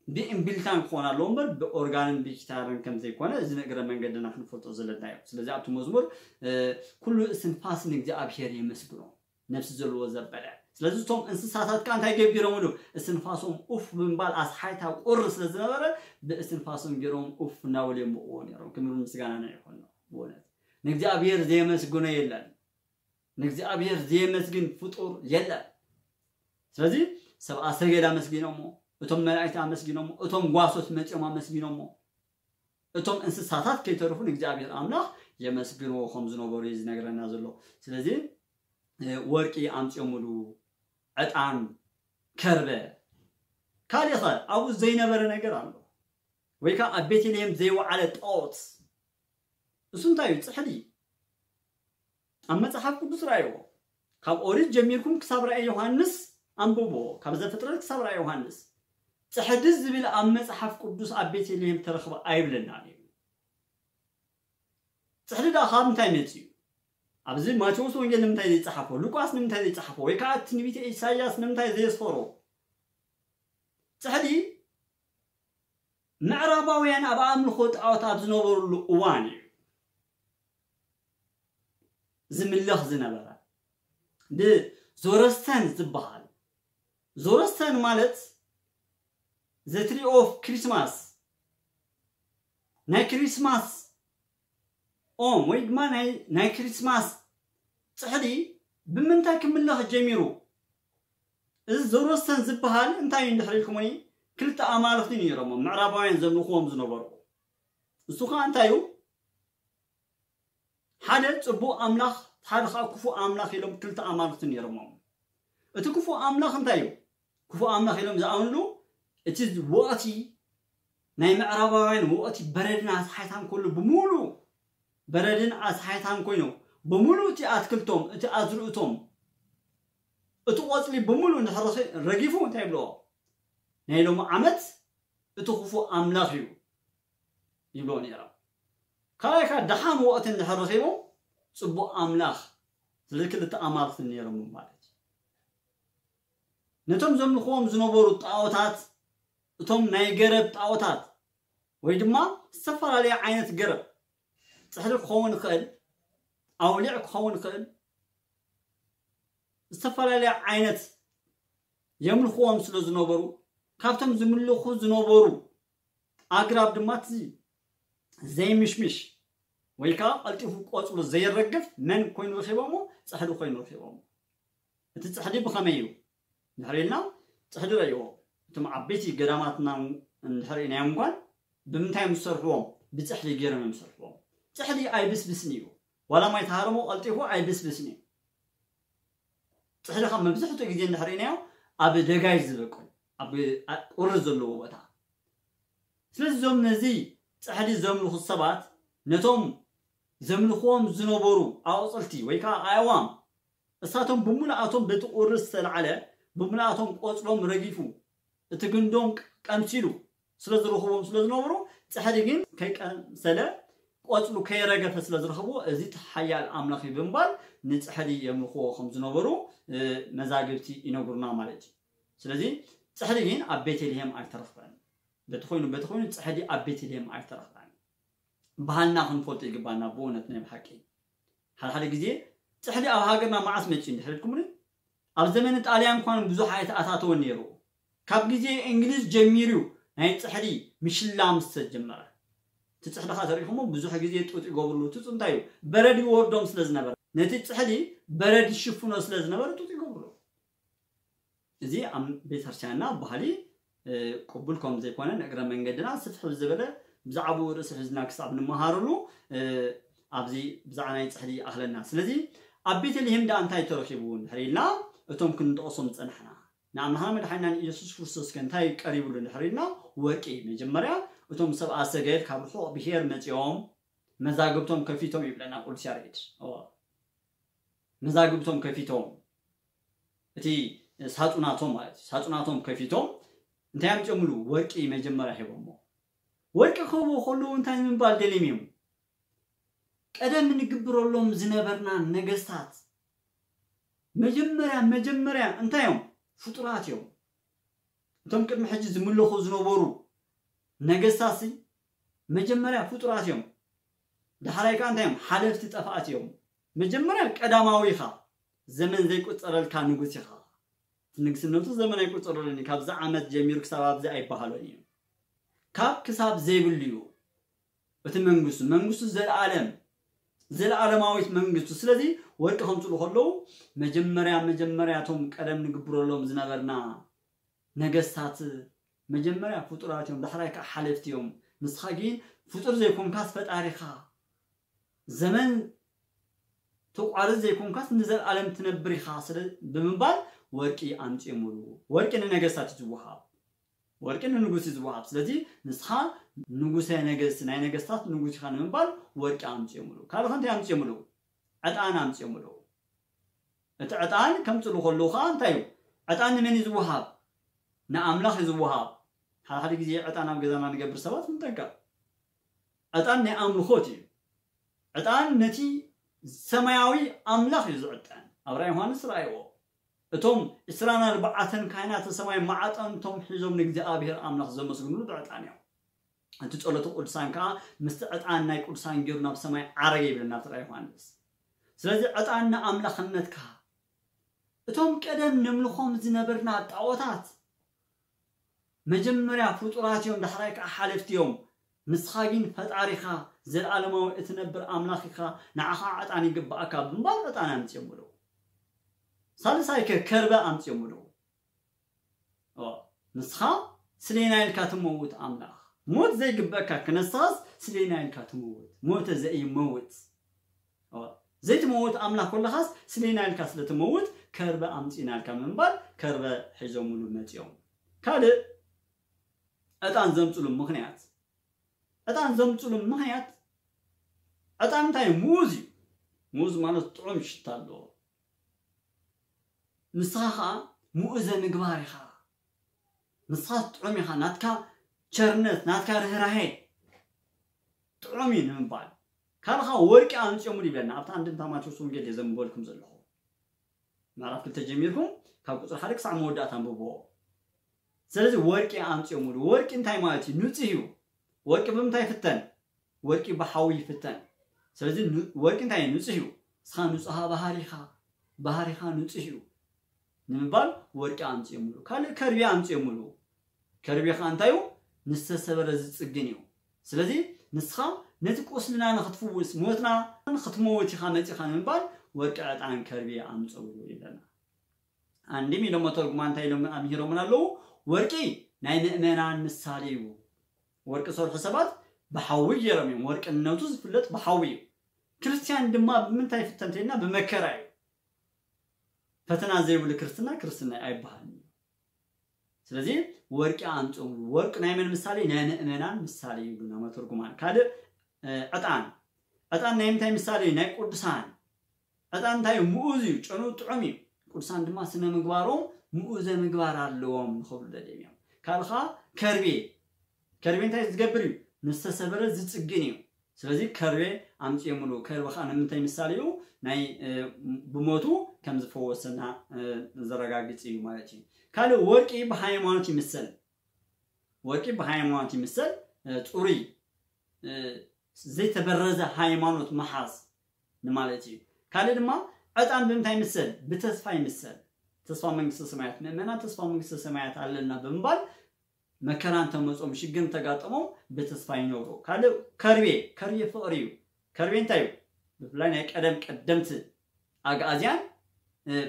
ብእምቢልታን ክኾን ኣለዎ እምበር ብኦርጋንን ብጊታርን ከም ዘይኮነ እዚ ንእግረ መንገድና ክንፈልጦ ዘለና እዩ። ስለዚ ኣብቲ መዝሙር እ፣ ኩሉ እስትንፋስ ንእግዚኣብሔር የመስግኖ፣ ነፍሲ ዘለዎ ዘበለ። ስለዚ እቶም እንስሳታት ከኣ እንታይ ገቢሮምሉ? እስትንፋሶም ኡፍ ብምባል ኣስሓይታ ቁሪ ስለ ዝነበረ ብእስትንፋሶም ገይሮም ኡፍ እናበሉ የምቕዎ ነይሮም። ክብሪ ምስጋና ናይ ይኾኖ። ብእውነት ንእግዚኣብሔር ዘየመስግኖ የለን። ንእግዚኣብሔር ዘየመስግን ፍጡር የለን። ስለዚ ሰብኣ ሰገል ኣመስጊኖሞ፣ እቶም መላእክቲ ኣመስጊኖሞ፣ እቶም ጓሶት መጺኦም ኣመስጊኖሞ፣ እቶም እንስሳታት ከይተርፉ ንእግዚኣብሔር ኣምላኽ የመስግንዎ ከም ዝነበሩ እዩ ዝነግረና ዘሎ። ስለዚ እ፣ ወርቂ ኣምጺኦምሉ፣ ዕጣን፣ ከርበ፣ ካልእኸ ኣብኡ ዘይነበረ ነገር ኣሎ ወይ ከዓ ኣብ ቤተልሔም ዘይወዓለ ጣዖት? እሱ እንታይ እዩ? ጽሕዲ። ኣብ መጽሓፍ ቅዱስ ረኣይዎ። ካብ ኦሪት ጀሚርኩም ክሳብ ራእይ ዮሃንስ ኣንብብዎ፣ ካብ ዘፍጥረት ክሳብ ራእይ ዮሃንስ። ጽሕዲ ዝብል ኣብ መጽሓፍ ቅዱስ ኣብ ቤተልሔም ተረኽበ ኣይብለናን እዩ። ጽሕዲ ደኣ ካብ ምንታይ መጺኡ? ኣብዚ ማቴዎስ ወንጌል ንምንታይ ዘይጸሓፎ? ሉቃስ ንምንታይ ዘይጸሓፎ? ወይ ከዓ ትንቢተ ኢሳይያስ ንምንታይ ዘየስፈሮ? ጽሕዲ ምዕራባውያን ኣብ ኣምልኾ ጣዖት ኣብ ዝነበሩሉ እዋን እዩ ዝምለኽ ዝነበረ። ብዞረስተን ዝበሃል። ዞረስተን ማለት the tree of Christmas፣ ናይ ክሪስማስ ኦም ወይ ድማ ናይ፣ ናይ ክሪስማስ ጽሕዲ ብምንታይ ክምለኽ ጀሚሩ? እዚ ዞሮስተን ዝበሃል እንታይ እዩ እንድሕር ኢልኩምኒ፣ ክልተ ኣማልኽቲ ነይሮሞ ምዕራባውያን ዘምልኽዎም ዝነበሩ። እሱ ኸዓ እንታይ እዩ? ሓደ ጽቡቕ ኣምላኽ፣ ሓደ ኸዓ ክፉእ ኣምላኽ ኢሎም ክልተ ኣማልኽቲ ነይሮሞም። እቲ ክፉእ ኣምላኽ እንታይ እዩ? ክፉእ ኣምላኽ ኢሎም ዝኣምንሉ፣ እቲ ወቕቲ ናይ ምዕራባውያን ወቕቲ በረድን ኣስሓይታን ኩሉ ብምሉእ፣ በረድን ኣስሓይታን ኮይኑ፣ ብምሉእ እቲ ኣትክልቶም፣ እቲ ኣዝርእቶም፣ እቲ ቆጽሊ ብምሉእ እንድሕር ረኺ-፣ ረጊፉ እንታይ ይብልዎ? ናይ ሎሚ ዓመት እቲ ክፉእ ኣምላኽ እዩ ይብልዎ ነይሮም። ካልኣይ ከዓ ደሓን ወቕቲ እንድሕር ረኺቦም ጽቡቕ ኣምላኽ፣ ስለዚ ክልተ ኣማልኽቲ ነይሮም ማለት እዩ። ነቶም ዘምልኽዎም ዝነበሩ ጣዖታት፣ እቶም ናይ ገረብ ጣዖታት ወይ ድማ ዝተፈላለየ ዓይነት ገረብ፣ ጽሕዲ ክኸውን ይኽእል፣ ኣውሊዕ ክኸውን ይኽእል፣ ዝተፈላለየ ዓይነት የምልኽዎም ስለ ዝነበሩ፣ ካብቶም ዝምልኹ ዝነበሩ ኣግራብ ድማ እቲ ዘይምሽምሽ ወይ ከዓ ቀልጢፉ ቆጽሉ ዘይረግፍ መን ኮይኑ ረኺቦሞ? ጽሕዲ ኮይኑ ረኺቦም። እቲ ጽሕዲ ብኸመይ እዩ? ድሕር ኢልና ጽሕዲ ረእይዎ። እቶም ዓበይቲ ገዳማትና እንድሕር ኢናዮም እንኳን ብምንታይ እዮም ዝሰርሕዎም? ብጽሕዲ ገይሮም እዮም ዝሰርሕዎም። ጽሕዲ ኣይብስብስን እዩ። ዋላ ማይ ተሃረሞ ቀልጢፉ ኣይብስብስን እዩ። ጽሕዲ ካብ መብዛሕትኡ ግዜ እንድሕር ኢናዮ ኣብ ደጋይ ዝበቁል፣ ኣብ ቁሪ ዘለዎ ቦታ። ስለዚ እዞም ነዚ ጽሕዲ ዘምልኹ ሰባት ነቶም ዘምልኽዎም ዝነበሩ ኣቑጽልቲ ወይ ከዓ ኣእዋም እሳቶም ብምልኣቶም በቲ ቁሪ ዝተላዕለ ብምልኣቶም ቆጽሎም ረጊፉ እቲ ግንዶም ቀምሲሉ ስለ ዝረኽቦም ስለ ዝነበሩ ጽሕዲ ግን ከይቀምሰለ ቆጽሉ ከይረገፈ ስለ ዝረኽቦ እዚ ሓያል ኣምላኽ እዩ ብምባል ንጽሕዲ የምልኽዎ ከም ዝነበሩ መዛግብቲ ይነግሩና ማለት እዩ። ስለዚ ጽሕዲ ግን ኣብ ቤተልሔም ኣይተረኽበን። በቲ ኮይኑ በቲ ኮይኑ ጽሕዲ ኣብ ቤተልሔም ኣይተረኽበን። ባህልና ክንፈልጦ ይግባና ብእውነት ናይ ብሓቂ። ሓደ ሓደ ግዜ ጽሕዲ ኣብ ሃገርና መዓስ መጺኡ እንድሕር ኢልኩምኒ፣ ኣብ ዘመነ ጣልያን እንኳን ብዙሕ ኣይተኣታተወን ነይሩ። ካብ ግዜ እንግሊዝ ጀሚሩ ናይ ጽሕዲ ምሽላም ዝተጀመረ። እቲ ጽሕዲ ኸዓ ተሪእኹሞ ብዙሕ ግዜ ጡጥ ይገብርሉ። እቲ ጡጥ እንታይ እዩ? በረድ ይወርዶም ስለ ዝነበረ፣ ነቲ ጽሕዲ በረድ ይሽፍኖ ስለ ዝነበረ ጡጥ ይገብርሉ። እዚ ኣብ ቤተክርስትያንና ባህሊ ቅቡል ከም ዘይኮነ ንእግረ መንገድና ስፍሕ ዝበለ ብዛዕባኡ ርእሲ ሒዝና ክሳብ ንመሃርሉ ኣብዚ ብዛዕባ ናይ ጽሕዲ ይኣኽለና። ስለዚ ኣብ ቤተልሔም ደኣ እንታይ ተረኺቡ እንድሕር ኢልና እቶም ክንጠቕሶም ዝጸናሕና ንኣምላኽና መድሓኒናን ኢየሱስ ክርስቶስ ከ እንታይ ቀሪብሉ እንድሕር ኢልና ወርቂ መጀመርያ እቶም ሰብኣ ሰገል ካብ ርሑቕ ብሄር መጺኦም መዛግብቶም ከፊቶም ይብለና ቅዱስ ያሬድ። መዛግብቶም ከፊቶም እቲ ሳጹናቶም ማለት እዩ። ሳጹናቶም ከፊቶም እንታይ ኣምጺኦምሉ? ወርቂ መጀመርያ ሂቦሞ። ወርቂ ክህቡ ከለዉ እንታይ ንምባል ደልዮም እዮም? ቀደም ንግብረሎም ዝነበርና ነገስታት መጀመርያ መጀመርያ እንታይ እዮም? ፍጡራት እዮም። እቶም ቅድሚ ሕጂ ዝምለኹ ዝነበሩ ነገስታትሲ መጀመርያ ፍጡራት እዮም። ዳሕራይ ከዓ እንታይ እዮም? ሓለፍቲ ጠፋእቲ እዮም። መጀመርያ ቀዳማዊ ኢኻ፣ ዘመን ዘይቁጸረልካ ንጉስ ኢኻ። ንግስነቱ ዘመን ኣይቁጸረሉን እዩ። ካብዚ ዓመት ጀሚሩ ክሳብ ኣብዚ ኣይበሃሎን እዩ። ካብ ክሳብ ዘይብሉ እዩ እቲ መንግስቱ። መንግስቱ ዘለኣለም፣ ዘለኣለማዊት መንግስቱ። ስለዚ ወርቂ ከምፅሉ ከለዉ መጀመርያ መጀመርያ እቶም ቀደም ንግብረሎም ዝነበርና ነገስታት መጀመርያ ፍጡራት እዮም፣ ዳሕራይ ከዓ ሓለፍቲ እዮም። ንስኻ ግን ፍጡር ዘይኮንካስ ፈጣሪኻ፣ ዘመን ተቋርጽ ዘይኮንካስ ንዘለኣለም ትነብር ኢኻ ስለ ብምባል ወርቂ ኣምጺኦምሉ። ወርቂ ንነገስታት እዩ ዝወሃብ፣ ወርቂ ንንጉስ እዩ ዝወሃብ። ስለዚ ንስኻ ንጉሰ ነገስት ናይ ነገስታት ንጉስ ኢኻ ንምባል ወርቂ ኣምጺኦምሉ። ካልእ ከ እንታይ ኣምጺኦምሉ? ዕጣን ኣምጺኦምሉ። እቲ ዕጣን ከምጽሉ ከለዉ ከዓ እንታይ እዩ? ዕጣን ንመን እዩ ዝወሃብ? ንኣምላኽ እዩ ዝወሃብ። ሓደ ሓደ ግዜ ዕጣን ኣብ ገዛና ንገብር ሰባት ንጠንቀቕ። ዕጣን ናይ ኣምልኾት እዩ። ዕጣን ነቲ ሰማያዊ ኣምላኽ እዩ ዝዕጠን። ኣብ ራእይ ዮሃንስ ረኣይዎ። እቶም ዕስራን ኣርባዕተን ካህናተ ሰማይ ማዕጠንቶም ሒዞም ንእግዚኣብሔር ኣምላኽ ዘመስግንሉ ብዕጣን እዮም። እቲ ጸሎተ ቅዱሳን ከኣ ምስቲ ዕጣን ናይ ቅዱሳን ገይሩ ናብ ሰማይ ዓረገ ይብለና ኣብቲ ራእይ ዮሃንስ። ስለዚ ዕጣን ንኣምላኽነትካ እቶም ቀደም ነምልኾም ዝነበርና ጣዖታት መጀመርያ ፍጡራት እዮም፣ ዳሕራይ ከዓ ሓለፍቲ እዮም። ንስኻ ግን ፈጣሪኻ፣ ዘለኣለማዊ እትነብር ኣምላኽ ኢኻ፣ ንዓኻ ዕጣን ይግብኣካ ብምባል ዕጣን ኣምጺኦምሉ። ሳልሳይ ከ ከርበ ኣምጺኦምሉ። ኦ፣ ንስኻ ስሌና ኢልካ ትመውት ኣምላኽ። ሞት ዘይግበእካ ክነስኻስ ስሌና ኢልካ ትመውት። ሞተ ዘይመውት። ኦ፣ ዘይትመውት ኣምላኽ ኮለኻስ ስሌና ኢልካ ስለ ትመውት ከርበ ኣምጺእና ኢልካ ምንባል ከርበ ሒዞምሉ መጺኦም። ካልእ ዕጣን ዘምጽሉ ምኽንያት፣ ዕጣን ዘምጽሉ ምኽንያት፣ ዕጣን እንታይ እዩ? ሙዝ እዩ። ሙዝ ማለት ጥዑም ሽታ ኣለዎ። ንስኻ ኸኣ ምኡዘ ምግባር ኢኻ። ንስኻ ጥዑም ኢኻ፣ ናትካ ቸርነት፣ ናትካ ርህራሄ ጥዑም እዩ ንምባል። ካልኻ ወርቂ ኣምጺኦምሉ ይብለና። ኣብታ ኣንድምታ ማቴዎስ ወንጌል እየ ዘንብበልኩም ዘለኹ። ምዕራፍ ክልተ ጀሚርኩም ካብ ቁጽሪ ሓደ ክሳዕ መወዳእታ ኣንብብዎ። ስለዚ ወርቂ ኣምጺኦምሉ። ወርቂ እንታይ ማለት እዩ? ንጹህ እዩ። ወርቂ ብምንታይ ይፍተን? ወርቂ ብሓዊ ይፍተን። ስለዚ ን-፣ ወርቂ እንታይ እዩ? ንጹህ እዩ። ንስኻ ንጹሃ ባህሪኻ፣ ባህሪኻ ንጹህ እዩ ንምባል ወርቂ ኣምጺኦምሉ። ካልእ ከርቤ ኣምጺኦምሉ። ከርቤ ኸኣ እንታይ እዩ? ንዝተሰበረ ዝጽግን እዩ። ስለዚ ንስኻ ነቲ ቁስልና ንኽትፍውስ፣ ሞትና ንኽትመውት ኢኻ መጺኻ ንምባል ወርቂ፣ ዕጣን፣ ከርቤ ኣምፅኡ ይብለና። ኣንድም ኢሎም መተርጉማን እንታይ ኢሎም ኣምሂሮምን ኣለዉ? ወርቂ ናይ ምእመናን ምሳሌ እዩ። ወርቂ ዝሰርሑ ሰባት ብሓዊ ገይሮም እዮም። ወርቅነቱ ዝፍለጥ ብሓዊ እዩ። ክርስቲያን ድማ ብምንታይ ይፍተን ተይልና? ብመከራ እዩ። ፈተና ዘይብሉ ክርስትና ክርስትና ኣይበሃልን እዩ። ስለዚ ወርቂ ኣምፅኡ። ወርቂ ናይ መን ምሳሌ? ናይ ምእመናን ምሳሌ ይብሉና መተርጉማን። ካልእ ዕጣን፣ ዕጣን ናይ ምንታይ ምሳሌ? ናይ ቅዱሳን። ዕጣን እንታይ እዩ? ምኡዝ እዩ፣ ጨንኡ ጥዑም እዩ። ቅዱሳን ድማ ስነ ምግባሮም ምኡዘ ምግባር ኣለዎም ንኽብሉ ደልዮም እዮም። ካልኻ ከርቤ፣ ከርቤ እንታይ ዝገብር እዩ? ንዝተሰበረ ዝፅግን እዩ። ስለዚ ከርቤ ኣምፅኦምሉ። ከርቤ ከዓ ንምንታይ ምሳሌ እዩ? ናይ ብሞቱ ከም ዝፈወሰና ዘረጋግፅ እዩ ማለት እዩ። ካልእ ወርቂ ብሃይማኖት ይምሰል። ወርቂ ብሃይማኖት ይምሰል፣ ፅሩይ ዘይተበረዘ ሃይማኖት ምሓዝ ንማለት እዩ። ካልእ ድማ ዕጣን ብምንታይ ይምሰል? ብተስፋ ይምሰል። ተስፋ መንግስተ ሰማያት፣ ምእመናን ተስፋ መንግስተ ሰማያት ኣለና ብምባል መከራ እንተመጾም፣ ሽግር እንተጋጠሞም ብተስፋ ይነብሩ። ካልእ ከርቤ፣ ከርቤ ፍቕሪ እዩ። ከርቤ እንታይ እዩ? ብፍላይ ናይ ቀደም ቀደምቲ ኣግኣዝያን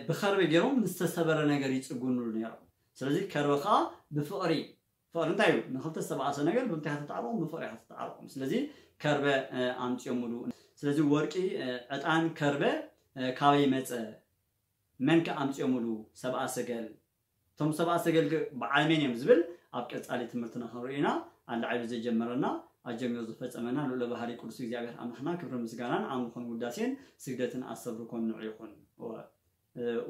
ብኸርቤ ገይሮም ንዝተሰበረ ነገር ይጽግኑሉ ነይሮም። ስለዚ ከርበ ከዓ ብፍቕሪ፣ ፍቕሪ እንታይ እዩ? ንኽልተ ዝተባኣሰ ነገር ብምንታይ ኢኻ ተጣዕርቖም? ብፍቕሪ ኢኻ ተጣዕርቖም። ስለዚ ከርበ ኣምፅኦምሉ። ስለዚ ወርቂ፣ ዕጣን፣ ከርበ ካበይ መፀ? መን ከ ኣምፅኦምሉ? ሰብኣ ሰገል። እቶም ሰብኣ ሰገል በዓል መን እዮም ዝብል ኣብ ቀፃሊ ትምህርትና ክንርኢ ኢና። ኣላዒሉ ዘጀመረና ኣጀሚሩ ዝፈፀመና ልዑለ ባህሪ ቅዱስ እግዚኣብሔር ኣምላኽና ክብርን ምስጋናን ኣምልኾን ውዳሴን ስግደትን ኣስተብርኮን ንዑ ይኹን።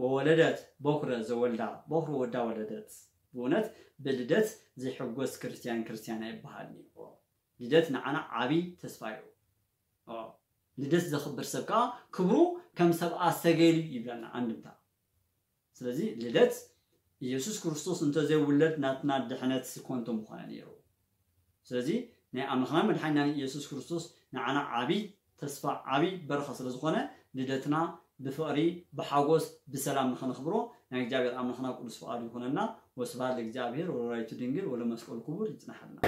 ወወለደት በኩረ ዘወልዳ በኩረ ወዳ ወለደት። ብእውነት ብልደት ዘይሕጎስ ክርስቲያን ክርስቲያን ኣይበሃልን እዩ። ልደት ንዓና ዓብይ ተስፋ እዩ። ልደት ዘኽብር ሰብ ከዓ ክብሩ ከም ሰብኣ ሰገል እዩ ይብለና ኣንድምታ። ስለዚ ልደት ኢየሱስ ክርስቶስ እንተዘይውለድ ናትና ድሕነት ኮንቶ ምኾነ ነይሩ። ስለዚ ናይ ኣምላኽና መድሓኒናን ኢየሱስ ክርስቶስ ንዓና ዓብይ ተስፋ ዓብይ በረኸ ስለ ዝኾነ ልደትና ብፍቕሪ ብሓጎስ ብሰላም ንኸነኽብሮ ናይ እግዚኣብሔር ኣምላኽና ቅዱስ ፍቓዱ ይኹነልና። ወስብሐት ለእግዚኣብሔር ወለወላዲቱ ድንግል ወለመስቀሉ ክቡር ይጽናሓልና።